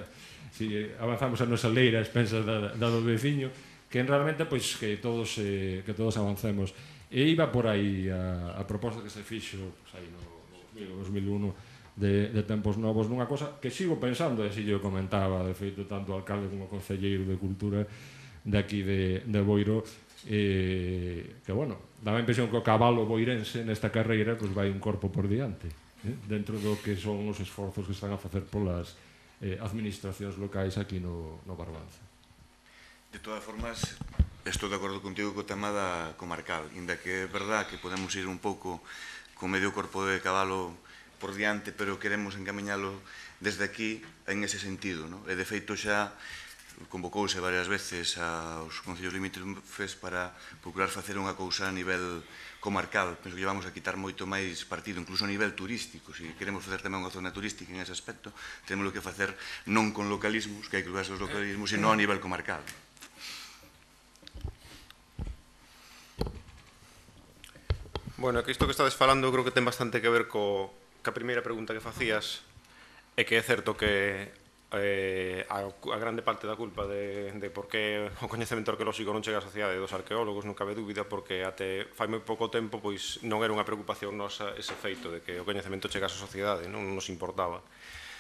si, si avanzamos a nosa leira a expensas da, da do veciño, que realmente, pois, que todos, eh, que todos avancemos. E iba por aí a, a proposta que se fixo, pois, aí no dos mil un, De, de tempos novos, nunha cosa que sigo pensando, e se yo comentaba, de feito, tanto o alcalde como o concelleiro de Cultura de aquí de, de Boiro, eh, que, bueno, daba a impresión que o cabalo boirense nesta carreira pues, vai un corpo por diante, eh, dentro do que son os esforzos que están a facer polas eh, administracións locais aquí no, no Barbanza. De todas formas, estou de acordo contigo co tema da comarcal, inda que é verdad que podemos ir un pouco con medio corpo de cabalo por diante, pero queremos encamiñalo desde aquí en ese sentido, ¿no? E de feito xa convocouse varias veces aos concellos limítrofes para procurar facer unha cousa a nivel comarcal. Penso que vamos a quitar moito máis partido, incluso a nivel turístico. Se queremos facer tamén unha zona turística en ese aspecto, temos que facer non con localismos, que hai que usar os localismos, sino a nivel comarcal. Bueno, que isto que estades falando creo que ten bastante que ver co que a primeira pregunta que facías é que é certo que eh, a, a grande parte da culpa de, de por que o coñecemento arqueolóxico non chega á sociedade dos arqueólogos non cabe dúbida, porque até fai moi pouco tempo pois non era unha preocupación nosa ese feito de que o coñecemento chegase á sociedade, non nos importaba.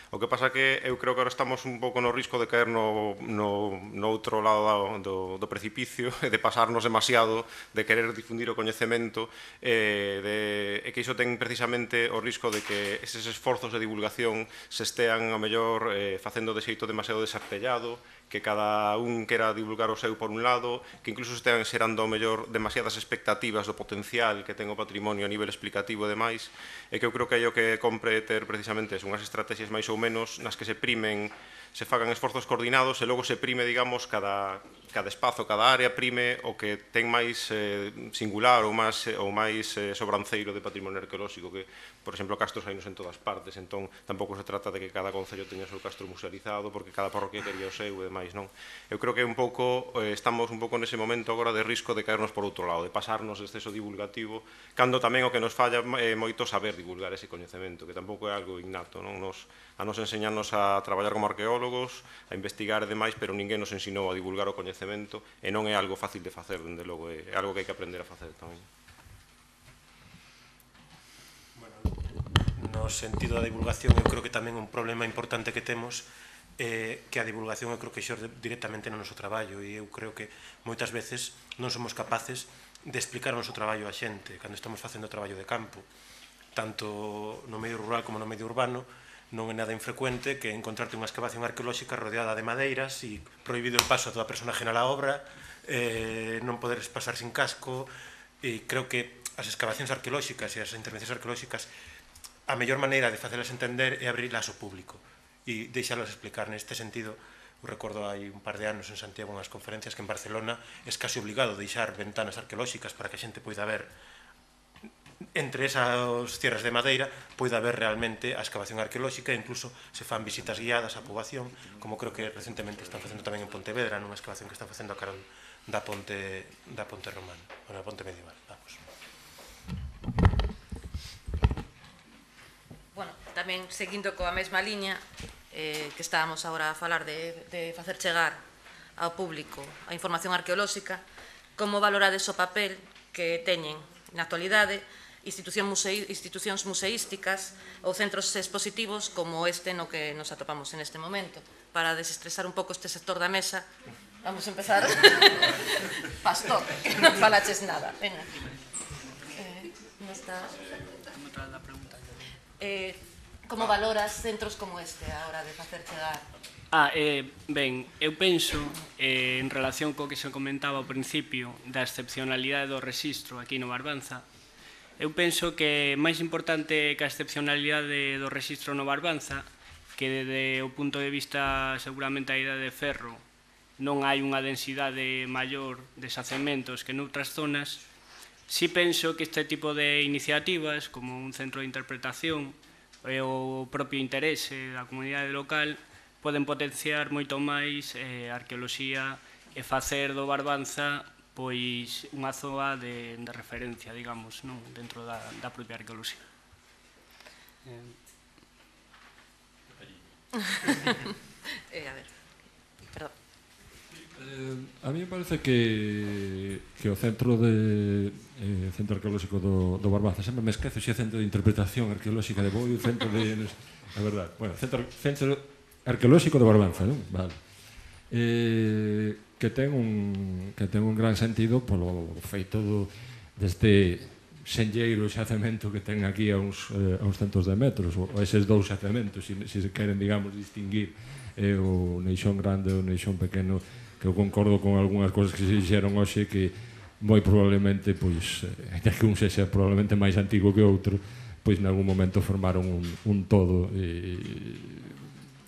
O que pasa que eu creo que agora estamos un pouco no risco de caer no, no, no outro lado do, do precipicio e de pasarnos demasiado, de querer difundir o coñecemento, e, de, e que iso ten precisamente o risco de que eses esforzos de divulgación se estean, a mellor, eh, facendo de xeito demasiado desartellado, que cada un quera divulgar o seu por un lado, que incluso estean xerando ao mellor demasiadas expectativas do potencial que ten o patrimonio a nivel explicativo e demais, e que eu creo que é o que compre ter precisamente unhas estrategias máis ou menos nas que se primen, se fagan esforzos coordinados e logo se prime, digamos, cada, cada espazo, cada área prime o que ten máis eh, singular ou máis, ou máis eh, sobranceiro de patrimonio arqueolóxico, que, por exemplo, castros hainos en todas partes, entón tampouco se trata de que cada concello teña o seu castro musealizado porque cada parroquia quería o seu e demais, non? Eu creo que un pouco, eh, estamos un pouco nese momento agora de risco de caernos por outro lado, de pasarnos de exceso divulgativo, cando tamén o que nos falla é eh, moito saber divulgar ese coñecemento, que tampouco é algo innato, non? Nos, a nos enseñarnos a traballar como arqueólogos, a investigar e demais, pero ninguén nos ensinou a divulgar o coñecemento e non é algo fácil de facer, dende logo, é algo que hai que aprender a facer tamén. Bueno, no sentido da divulgación, eu creo que tamén un problema importante que temos é que a divulgación eu creo que xorde directamente no noso traballo, e eu creo que moitas veces non somos capaces de explicar o noso traballo á xente cando estamos facendo traballo de campo, tanto no medio rural como no medio urbano. Non é nada infrecuente que encontrarte unha excavación arqueolóxica rodeada de madeiras e prohibido el paso a toda persona ajena á obra, eh, non poderes pasar sin casco, e creo que as excavacións arqueolóxicas e as intervencións arqueolóxicas, a mellor maneira de facelas entender é abrirlas ao público e deixalas explicar. Neste sentido, eu recordo hai un par de anos en Santiago unhas conferencias que en Barcelona é casi obligado deixar ventanas arqueolóxicas para que a xente poida ver entre esas tierras de madeira pode haber realmente a excavación arqueolóxica e incluso se fan visitas guiadas á poboación, como creo que recentemente están facendo tamén en Pontevedra, nunha excavación que están facendo a carón da ponte da ponte romana, ou da ponte medieval, vamos. Bueno, tamén seguindo coa mesma liña eh, que estábamos agora a falar de, de facer chegar ao público a información arqueolóxica, como valorades o papel que teñen na actualidade institucións, musei, institucións museísticas ou centros expositivos como este no que nos atopamos en este momento. Para desestresar un pouco este sector da mesa, vamos a empezar. Pastor, que non falaches nada. Venga. Eh, non está... Eh, como valoras centros como este a hora de facer chegar? Ah, eh, ben, eu penso, eh, en relación co que se comentaba ao principio da excepcionalidade do rexistro aquí no Barbanza, eu penso que máis importante que a excepcionalidade do rexistro no Barbanza, que desde o punto de vista seguramente a ida de ferro non hai unha densidade maior de xacementos que noutras zonas, si penso que este tipo de iniciativas, como un centro de interpretación e o propio interese da comunidade local, poden potenciar moito máis eh, a arqueoloxía e facer do Barbanza pois unha zoa de, de referencia, digamos, non? Dentro da, da propia arqueoloxía. Eh... eh, a ver, perdón. Eh, a mí me parece que, que o centro de eh, centro arqueolóxico do, do Barbanza, sempre me esquezo se é centro de interpretación arqueolóxica de Boi, centro de... a verdade, bueno, centro, centro arqueolóxico do Barbanza, non? Vale. Eh, que ten un que ten un gran sentido polo feito do, deste senlleiro xacemento que ten aquí a uns, eh, a uns centos de metros, ou eses dous xacementos, se si, si se queren, digamos, distinguir eh, o Neixón grande e o Neixón pequeno, que eu concordo con algunhas cousas que se dixeron hoxe, que moi probablemente, pois, eh, que un sexa probablemente máis antigo que outro, pois, en algún momento formaron un, un todo e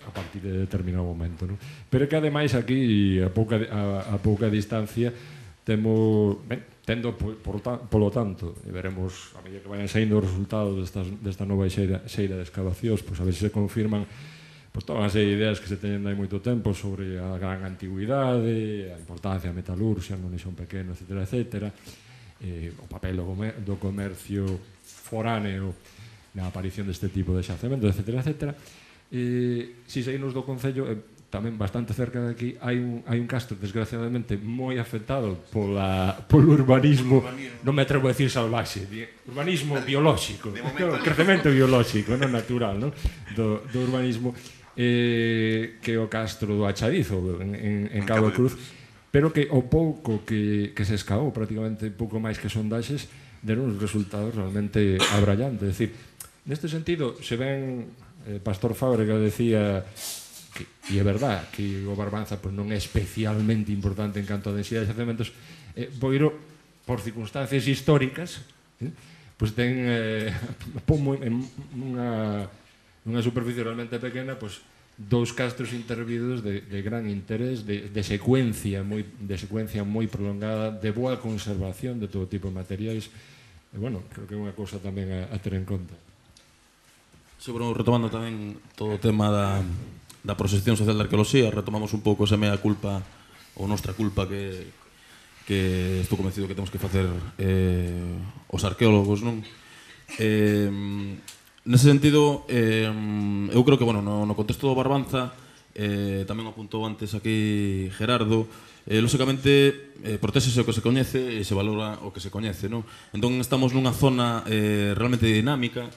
a partir de determinado momento, non? Pero que ademais aquí a pouca a, a pouca distancia temos, ben, tendo por, por, polo tanto, e veremos a medida que vayan saindo os resultados destas, desta nova xeira, xeira de excavacións, pois a ver se se confirman pois todas as ideas que se teñen hai moito tempo sobre a gran antigüidade, a importancia da metalurxia no Neixón pequeno, etcétera, etcétera, eh, o papel do, comer, do comercio foráneo na aparición deste tipo de xacementos, etcétera, etcétera. Eh, si saímos do Concello, eh, tamén bastante cerca de aquí, hai un, hai un castro, desgraciadamente, moi afectado pola, polo urbanismo, non me atrevo a decir salvaxe, urbanismo biolóxico, o crecemento biolóxico, non natural, non? Do, do urbanismo, eh, que o castro do Achadizo, en, en, en Cabo de Cruz, pero que o pouco que, que se escavou, prácticamente pouco máis que sondaxes, deron uns resultados realmente abrallantes. É dicir, neste sentido, se ven, eh, Pastor Fábrega decía... Que, e é verdad que o Barbanza pues, non é especialmente importante en canto a densidade de xacementos, eh, Boiro, por circunstancias históricas, eh, pues ten eh, en unha, unha superficie realmente pequena, pues, dous castros intervidos de, de gran interés, de, de secuencia moi de secuencia moi prolongada, de boa conservación de todo tipo de materiais. E, bueno, creo que é unha cousa tamén a, a ter en conta. Sí, bueno, retomando tamén todo o tema da da proxección social da arqueoloxía, retomamos un pouco esa mea culpa ou nostra culpa que, que estou convencido que temos que facer eh, os arqueólogos, non? Eh, nese sentido, eh, eu creo que, bueno, no, no contexto do Barbanza, eh, tamén apuntou antes aquí Gerardo, eh, lóxicamente, eh, protésese o que se coñece e se valora o que se coñece, non? Entón, estamos nunha zona eh, realmente dinámica,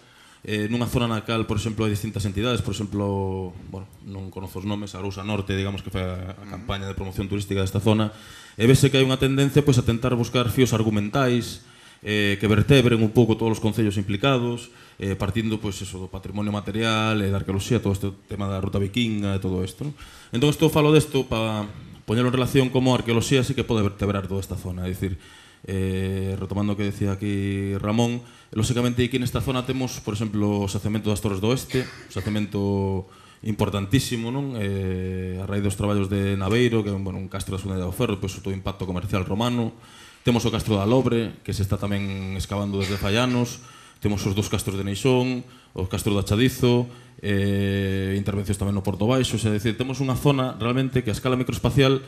Eh, nunha zona na cal, por exemplo, hai distintas entidades, por exemplo, bueno, non conozo os nomes, a Arousa Norte, digamos que foi a, a campaña de promoción turística desta zona, e vese que hai unha tendencia pois, a tentar buscar fíos argumentais eh, que vertebren un pouco todos os concellos implicados, eh, partindo pois, eso, do patrimonio material e da arqueoloxía, todo este tema da ruta vikinga e todo isto, non? Entón, isto falo desto para poñelo en relación como a arqueoloxía sí que pode vertebrar toda esta zona, é dicir, eh, retomando o que decía aquí Ramón, lóxicamente aquí nesta zona temos, por exemplo, o xacemento das Torres do Oeste, o xacemento importantísimo, non? Eh, a raíz dos traballos de Naveiro, que é un, bueno, un castro da Segunda Idade do Ferro, pois todo o impacto comercial romano. Temos o castro da Lobre, que se está tamén excavando desde fai anos. Temos os dous castros de Neixón, o castro do Achadizo, eh, intervencións tamén no Porto Baixo, é dicir, temos unha zona realmente que a escala microespacial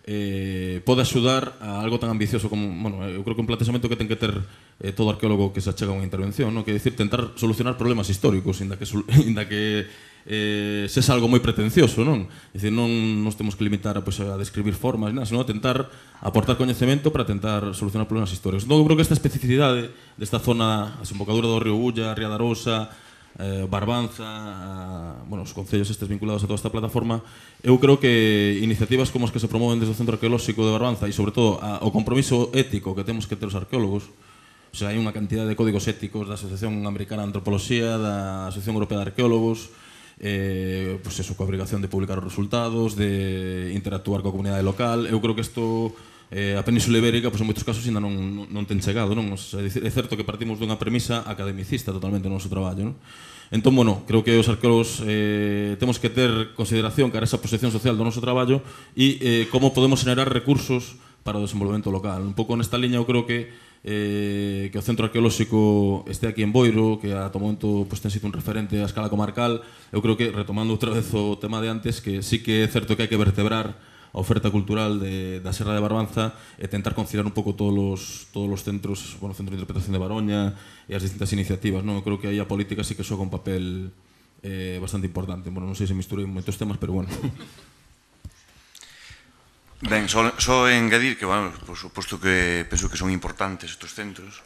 eh, pode axudar a algo tan ambicioso como, bueno, eu creo que un planteamento que ten que ter eh, todo arqueólogo que se achega a unha intervención, no? Que é dicir, tentar solucionar problemas históricos, inda que, inda que eh, sexa algo moi pretencioso, non? É dicir, non nos temos que limitar a, pues, a describir formas, nada, senón a tentar aportar coñecemento para tentar solucionar problemas históricos. Entón, eu creo que esta especificidade desta zona, a desembocadura do río Ulla, Ría da Arousa, eh, Barbanza, a, bueno, os concellos estes vinculados a toda esta plataforma, eu creo que iniciativas como as que se promoven desde o Centro Arqueolóxico de Barbanza e, sobre todo, a, o compromiso ético que temos que ter os arqueólogos, o sea, hai unha cantidad de códigos éticos da Asociación Americana de Antropoloxía, da Asociación Europea de Arqueólogos, eh, pues eso, coa obrigación de publicar os resultados, de interactuar coa comunidade local. Eu creo que isto eh, a Península Ibérica, pues, en moitos casos ainda non, non ten chegado, non? O sea, é certo que partimos dunha premisa academicista totalmente no noso traballo, non? Entón, bueno, creo que os arqueólogos eh, temos que ter consideración cara a esa posición social do noso traballo e eh, como podemos generar recursos para o desenvolvemento local. Un pouco nesta liña eu creo que eh, que o Centro Arqueolóxico este aquí en Boiro, que ata o momento pues, ten sido un referente a escala comarcal. Eu creo que, retomando outra vez o tema de antes, que sí que é certo que hai que vertebrar a oferta cultural de, da Serra de Barbanza e tentar conciliar un pouco todos os, todos os centros, bueno, o Centro de Interpretación de Baroña e as distintas iniciativas, non? Eu creo que aí a política sí que xoga un papel eh, bastante importante. Bueno, non sei se misturei moitos temas, pero bueno. Ben, só, só engadir que, bueno, por suposto que penso que son importantes estes centros,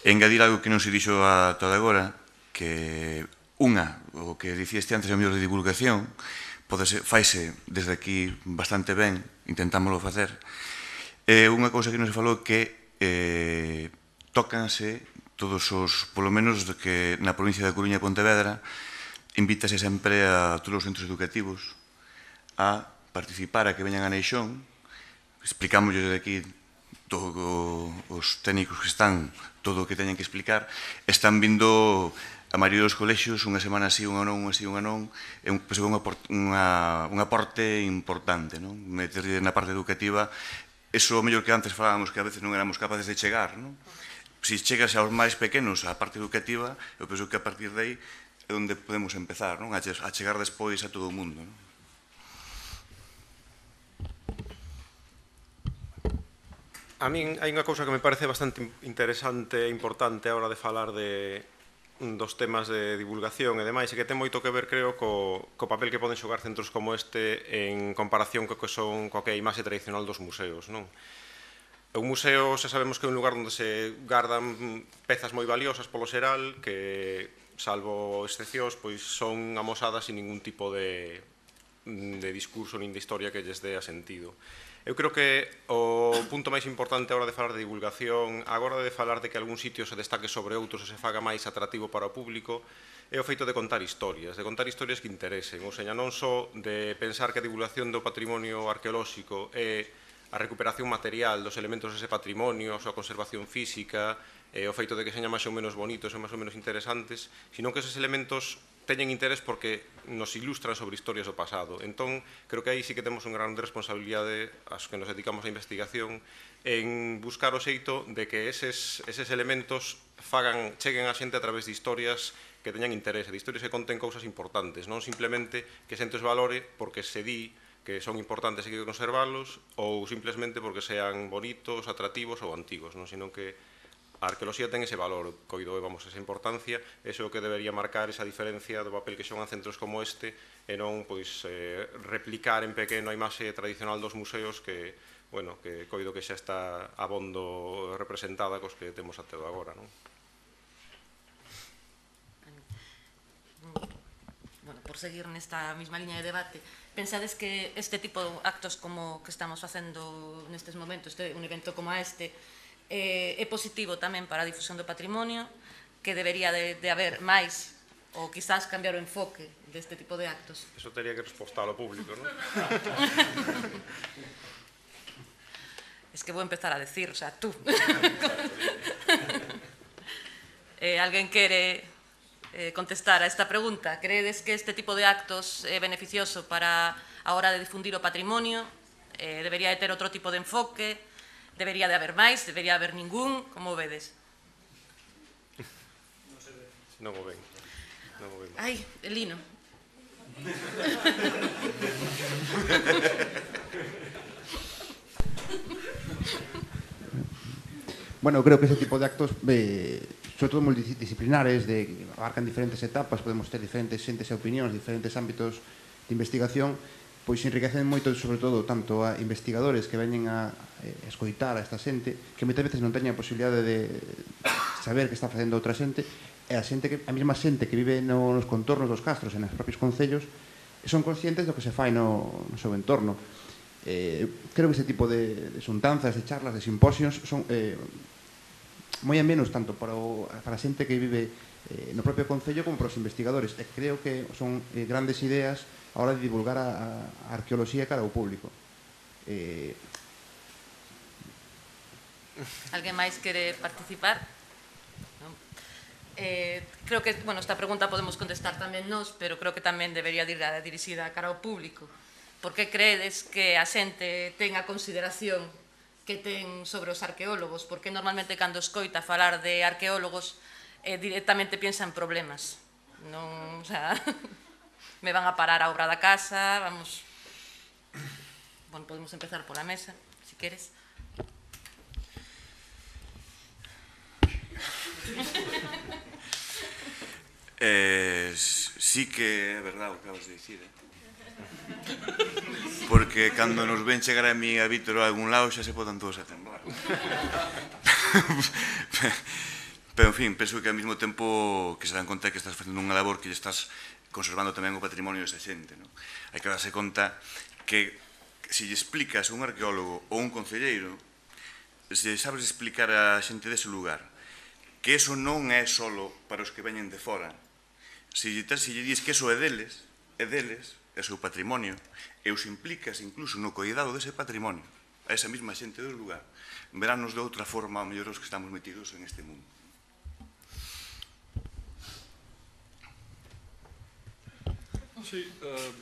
engadir algo que non se dixo ata agora, que unha, o que dicíeste antes, a mellor de divulgación, pode ser, faise desde aquí bastante ben, intentámoslo facer. Eh, unha cousa que non se falou que eh, tócanse todos os, polo menos de que na provincia da Coruña e Pontevedra, invítase sempre a todos os centros educativos a participar, a que veñan a Neixón. Explicámoslle desde aquí todos os técnicos que están, todo o que teñen que explicar. Están vindo a maioría dos colexios, unha semana así, unha non, unha así, unha non, é un, penso que é un aporte importante, non? Meter na parte educativa, eso o mellor que antes falábamos que a veces non éramos capaces de chegar, non? Se chegas aos máis pequenos a parte educativa, eu penso que a partir de aí é onde podemos empezar, non? A chegar despois a todo o mundo, non? A min hai unha cousa que me parece bastante interesante e importante a hora de falar de dos temas de divulgación e demais, e que ten moito que ver, creo, co, co papel que poden xogar centros como este en comparación co que son coa que é a imaxe tradicional dos museos, non? Un museo, xa sabemos que é un lugar onde se gardan pezas moi valiosas polo xeral, que, salvo excepcións, pois son amosadas sin ningún tipo de, de discurso nin de historia que lles dé a sentido. Eu creo que o punto máis importante a hora de falar de divulgación, a hora de falar de que algún sitio se destaque sobre outros e se faga máis atractivo para o público, é o feito de contar historias, de contar historias que interesen, ou seja, non só de pensar que a divulgación do patrimonio arqueolóxico é a recuperación material dos elementos dese patrimonio, a súa conservación física, e o feito de que señan máis ou menos bonitos e máis ou menos interesantes, sino que esos elementos teñen interés porque nos ilustran sobre historias do pasado. Entón, creo que aí sí que temos unha grande responsabilidade as que nos dedicamos á investigación en buscar o xeito de que eses, eses elementos fagan, cheguen a xente a través de historias que teñan interés, de historias que conten cousas importantes, non simplemente que xente os valore porque se di que son importantes e que hai que conservarlos ou simplemente porque sean bonitos, atractivos ou antigos, non? Sino que a arqueoloxía ten ese valor, coido, vamos, esa importancia, eso é o que debería marcar esa diferencia do papel que xogan centros como este e non, pois, eh, replicar en pequeno a imaxe tradicional dos museos que, bueno, que coido que xa está abondo representada cos que temos até agora, non? Bueno, por seguir nesta mesma liña de debate, pensades que este tipo de actos como que estamos facendo nestes momentos, este, un evento como este, Eh, é positivo tamén para a difusión do patrimonio, que debería de, de haber máis ou quizás cambiar o enfoque deste tipo de actos? Eso teria que respostar ao público, non? Es que vou empezar a decir, o sea, tú. eh, alguén quere eh, contestar a esta pregunta? Credes que este tipo de actos é beneficioso para a hora de difundir o patrimonio? Eh, debería de ter outro tipo de enfoque? Debería de haber máis, debería haber ningún, como vedes? Non o ven, non o ven. Ai, Elino. Bueno, creo que ese tipo de actos, eh, sobre todo multidisciplinares, de, abarcan diferentes etapas, podemos ter diferentes xentes e opinións, diferentes ámbitos de investigación, pois enriquecen moito, sobre todo, tanto a investigadores que veñen a escoitar a esta xente, que moitas veces non teñen a posibilidade de saber que está facendo outra xente, e a xente que a mesma xente que vive nos contornos dos castros e nos propios concellos son conscientes do que se fai no, no seu entorno. Eh, creo que ese tipo de, de xuntanzas, de charlas, de simposios son eh, moi a menos tanto para, o, para a xente que vive eh, no propio concello como para os investigadores, e creo que son eh, grandes ideas a hora de divulgar a, a arqueoloxía cara ao público. Eh... Alguén máis quere participar? Non? Eh, creo que, bueno, esta pregunta podemos contestar tamén nós, pero creo que tamén debería ir dirixida cara ao público. Por que credes que a xente ten a consideración que ten sobre os arqueólogos? Porque normalmente cando escoita falar de arqueólogos eh, directamente piensa en problemas. Non, o sea... me van a parar a obra da casa, vamos... Bueno, podemos empezar pola mesa, si queres. Eh, sí que é verdade o que acabas de dicir, eh? Porque cando nos ven chegar a mí a Vítor a algún lado xa se podan todos a temblar. Pero, en fin, penso que ao mesmo tempo que se dan conta que estás facendo unha labor que lle estás conservando tamén o patrimonio desa xente, non? Hai que darse conta que se lle explicas a un arqueólogo ou un concelleiro, se sabes explicar a xente dese lugar que eso non é solo para os que veñen de fora, se lle, se lle dis que eso é deles, é deles, é o seu patrimonio, e os implicas incluso no cuidado dese patrimonio a esa mesma xente do lugar, verános de outra forma ao mellor os que estamos metidos en este mundo. Sí, uh,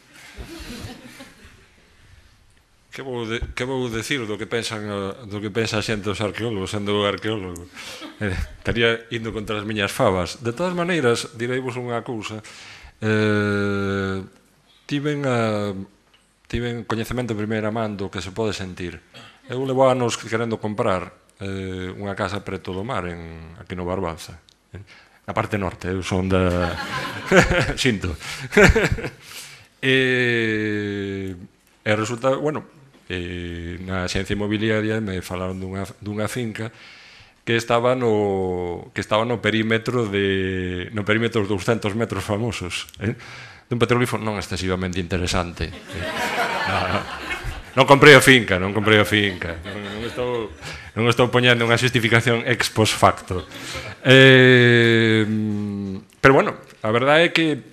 que vou de, que vou decir do que pensan uh, do que pensa a xente dos arqueólogos, sendo arqueólogo. Eh, estaría indo contra as miñas fabas. De todas maneiras, direivos unha cousa. Eh, tiven a tiven coñecemento de primeira man do que se pode sentir. Eu levo anos querendo comprar eh, unha casa preto do mar en, aquí no Barbanza. a parte norte, eu son da... Sinto. E, e resulta, bueno, e na xencia inmobiliaria me falaron dunha, dunha finca que estaba no que estaba no perímetro de no perímetro dos douscentos metros famosos, eh? Dun petrolífero non excesivamente interesante. Non, non comprei a finca, non comprei a finca. Non, non estou non estou poñendo unha justificación ex post facto. Eh, pero bueno, a verdade é que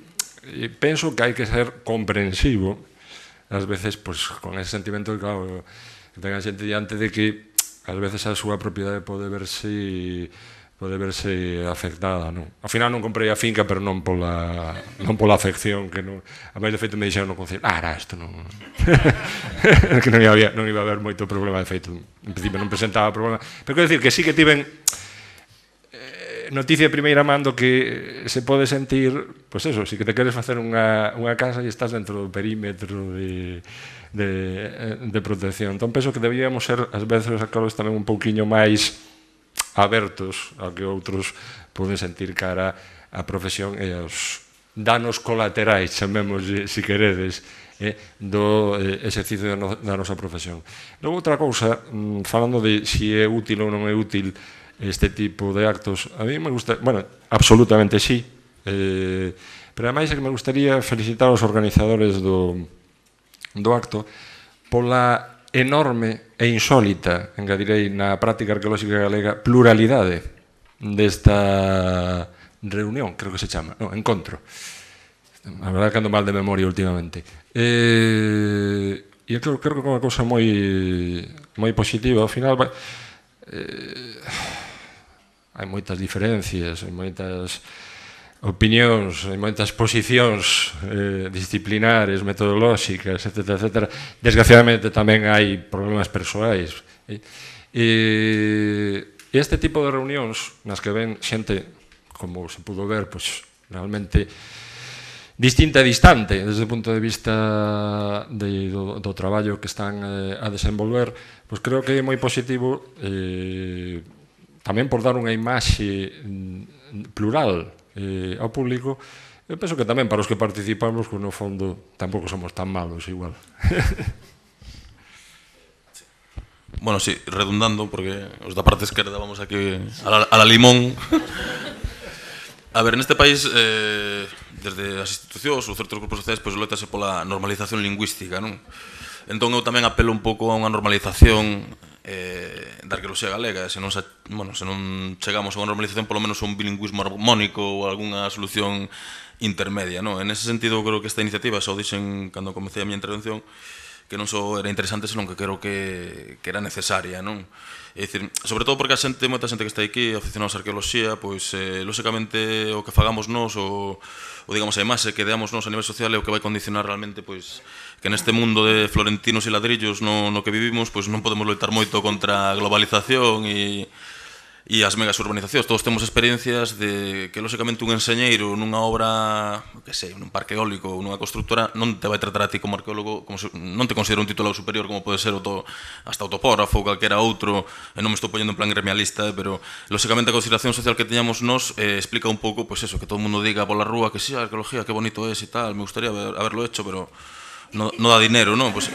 penso que hai que ser comprensivo ás veces, pois, con ese sentimento que, claro, que ten a xente diante de que ás veces a súa propiedade pode verse pode verse afectada, non? Ao final non comprei a finca, pero non pola non pola afección que non, a máis de feito me dixeron no concello, ah, era isto, non que non iba, non iba a haber moito problema, de feito en principio non presentaba problema, pero quero dicir que sí que tiven noticia de primeira mando que se pode sentir, pois eso, se que te queres facer unha, unha casa e estás dentro do perímetro de, de, de protección. Entón, penso que debíamos ser, ás veces, a Carlos, tamén un pouquiño máis abertos ao que outros poden sentir cara á profesión e aos danos colaterais, chamemos, se queredes, eh, do eh, exercicio da, no, da nosa profesión. Logo, outra cousa, falando de se é útil ou non é útil este tipo de actos, a mí me gusta, bueno, absolutamente sí, eh, pero ademais é que me gustaría felicitar aos organizadores do, do acto pola enorme e insólita, engadirei, na práctica arqueolóxica galega, pluralidade desta reunión, creo que se chama, no, encontro. A verdade que ando mal de memoria últimamente. Eh, e creo, creo que é unha cousa moi moi positiva, ao final eh, hai moitas diferencias, hai moitas opinións, hai moitas posicións eh, disciplinares, metodolóxicas, etcétera, etcétera. Desgraciadamente tamén hai problemas persoais. E, e este tipo de reunións nas que ven xente, como se pudo ver, pois, realmente distinta e distante desde o punto de vista de, do, do traballo que están eh, a desenvolver, pois creo que é moi positivo eh, tamén por dar unha imaxe plural eh, ao público. Eu penso que tamén para os que participamos, que no fondo tampouco somos tan malos igual. Bueno, sí, redundando, porque os da parte esquerda vamos aquí a la, a la limón. A ver, neste país, eh, desde as institucións ou certos grupos sociais, pois loitase pola normalización lingüística, non? Entón eu tamén apelo un pouco a unha normalización eh, da arqueoloxía galega, se non, se, bueno, se non chegamos a unha normalización, polo menos a un bilingüismo armónico ou algunha solución intermedia, non? En ese sentido, creo que esta iniciativa, xa o dixen cando comecei a miña intervención, que non só era interesante, senón que creo que, que era necesaria, non? É dicir, sobre todo porque a xente, moita xente que está aquí, aficionados á arqueoloxía, pois, eh, lóxicamente, o que fagamos nós, o, o digamos, a imaxe que deamos nós a nivel social é o que vai condicionar realmente, pois, que neste mundo de florentinos e ladrillos no, no que vivimos, pois non podemos loitar moito contra a globalización e e as megas urbanizacións. Todos temos experiencias de que, lóxicamente, un enxeñeiro nunha obra, que sei, nun parque eólico ou nunha constructora non te vai tratar a ti como arqueólogo, como se, non te considera un titulado superior como pode ser o to, hasta o topógrafo ou calquera outro, e non me estou poñendo en plan gremialista, eh, pero, lóxicamente, a consideración social que teñamos nós eh, explica un pouco, pois eso, que todo o mundo diga pola rúa que si, sí, a arqueología, que bonito é e tal, me gustaría haber, haberlo hecho, pero no, no dá dinero, non? Pois,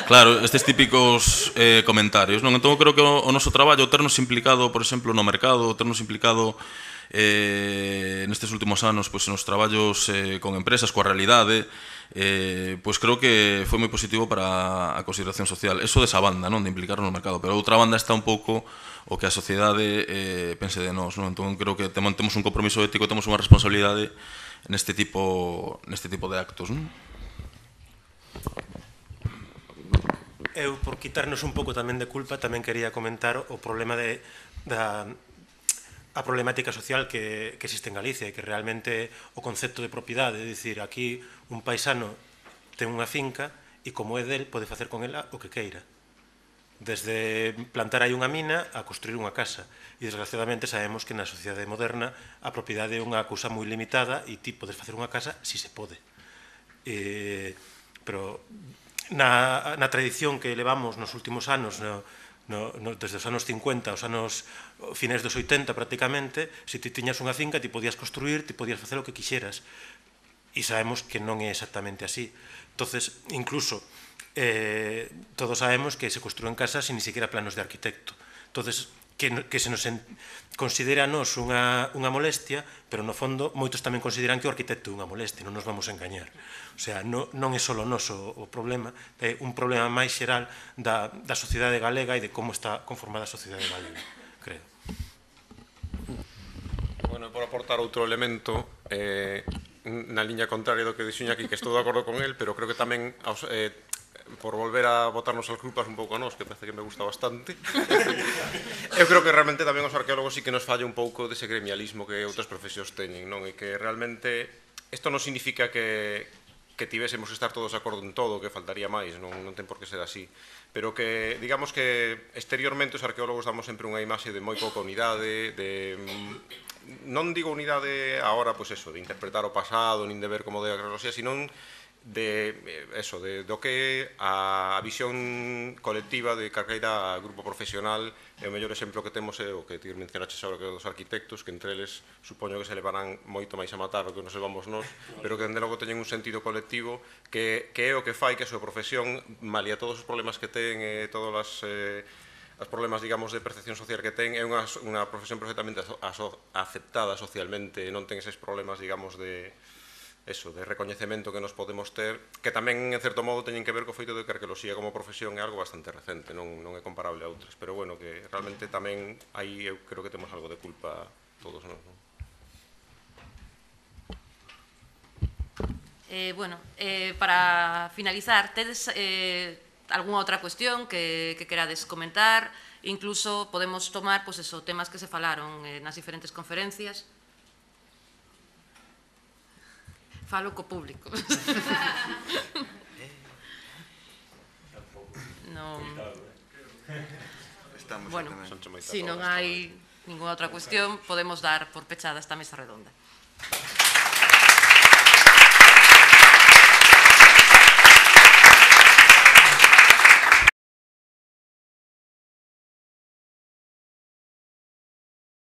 claro, estes típicos eh, comentarios, non? Entón, creo que o, o noso traballo, o ternos implicado, por exemplo, no mercado, o ternos implicado eh, nestes últimos anos, pois, nos traballos eh, con empresas, coa realidade, eh, pois creo que foi moi positivo para a consideración social. Eso desa banda, non? De implicarnos no mercado, pero outra banda está un pouco o que a sociedade eh, pense de nós, non? Entón, creo que temos un compromiso ético, temos unha responsabilidade neste tipo, neste tipo de actos, non? Eu, por quitarnos un pouco tamén de culpa, tamén quería comentar o problema de, da a problemática social que, que existe en Galicia e que realmente o concepto de propiedade, é dicir, aquí un paisano ten unha finca e como é del pode facer con ela o que queira, desde plantar aí unha mina a construir unha casa, e desgraciadamente sabemos que na sociedade moderna a propiedade é unha cousa moi limitada e ti podes facer unha casa si se pode, eh, pero Na, na tradición que levamos nos últimos anos no, no, no, desde os anos cincuenta, os anos finais dos oitenta prácticamente, se ti tiñas unha finca, ti podías construir, ti podías facer o que quixeras. E sabemos que non é exactamente así. Entonces, incluso, eh, todos sabemos que se construen casas sin ni siquiera planos de arquitecto. Entonces, que, que se nos en, considera a nos unha, unha molestia, pero no fondo moitos tamén consideran que o arquitecto é unha molestia, non nos vamos a engañar. O sea, no, non é só noso o problema, é un problema máis xeral da, da sociedade galega e de como está conformada a sociedade galega, creo. Bueno, por aportar outro elemento, eh, na liña contraria do que dixo aquí, que estou de acordo con el, pero creo que tamén eh, por volver a botarnos as culpas un pouco a nós, que parece que me gusta bastante. Eu creo que realmente tamén os arqueólogos sí que nos falla un pouco dese gremialismo que outras profesións teñen, non? E que realmente isto non significa que que tivésemos que estar todos de acordo en todo, que faltaría máis, non, non ten por que ser así, pero que, digamos que exteriormente os arqueólogos damos sempre unha imaxe de moi pouca unidade, de... non digo unidade agora, pois eso, de interpretar o pasado, nin de ver como de arqueoloxía, sino de eso, de do que a visión colectiva de calqueira grupo profesional. E o mellor exemplo que temos é o que ti mencionaches agora, que dos arquitectos, que entre eles supoño que se levarán moito máis a matar do que nos levamos nós, pero que dende logo teñen un sentido colectivo que, que é o que fai que a súa profesión, malia todos os problemas que ten e todas as eh, os problemas, digamos, de percepción social que ten, é unha, unha profesión perfectamente aso, aceptada socialmente, non ten eses problemas, digamos, de eso, de recoñecemento que nos podemos ter, que tamén, en certo modo, teñen que ver co feito de que a arqueoloxía como profesión é algo bastante recente, non, non é comparable a outras, pero, bueno, que realmente tamén aí eu creo que temos algo de culpa todos nós, non? Eh, bueno, eh, para finalizar, tedes eh, algunha outra cuestión que, que querades comentar? Incluso podemos tomar, pues eso, temas que se falaron eh, nas diferentes conferencias. Falo co público. Non... Bueno, se non hai ninguna outra cuestión, podemos dar por pechada esta mesa redonda.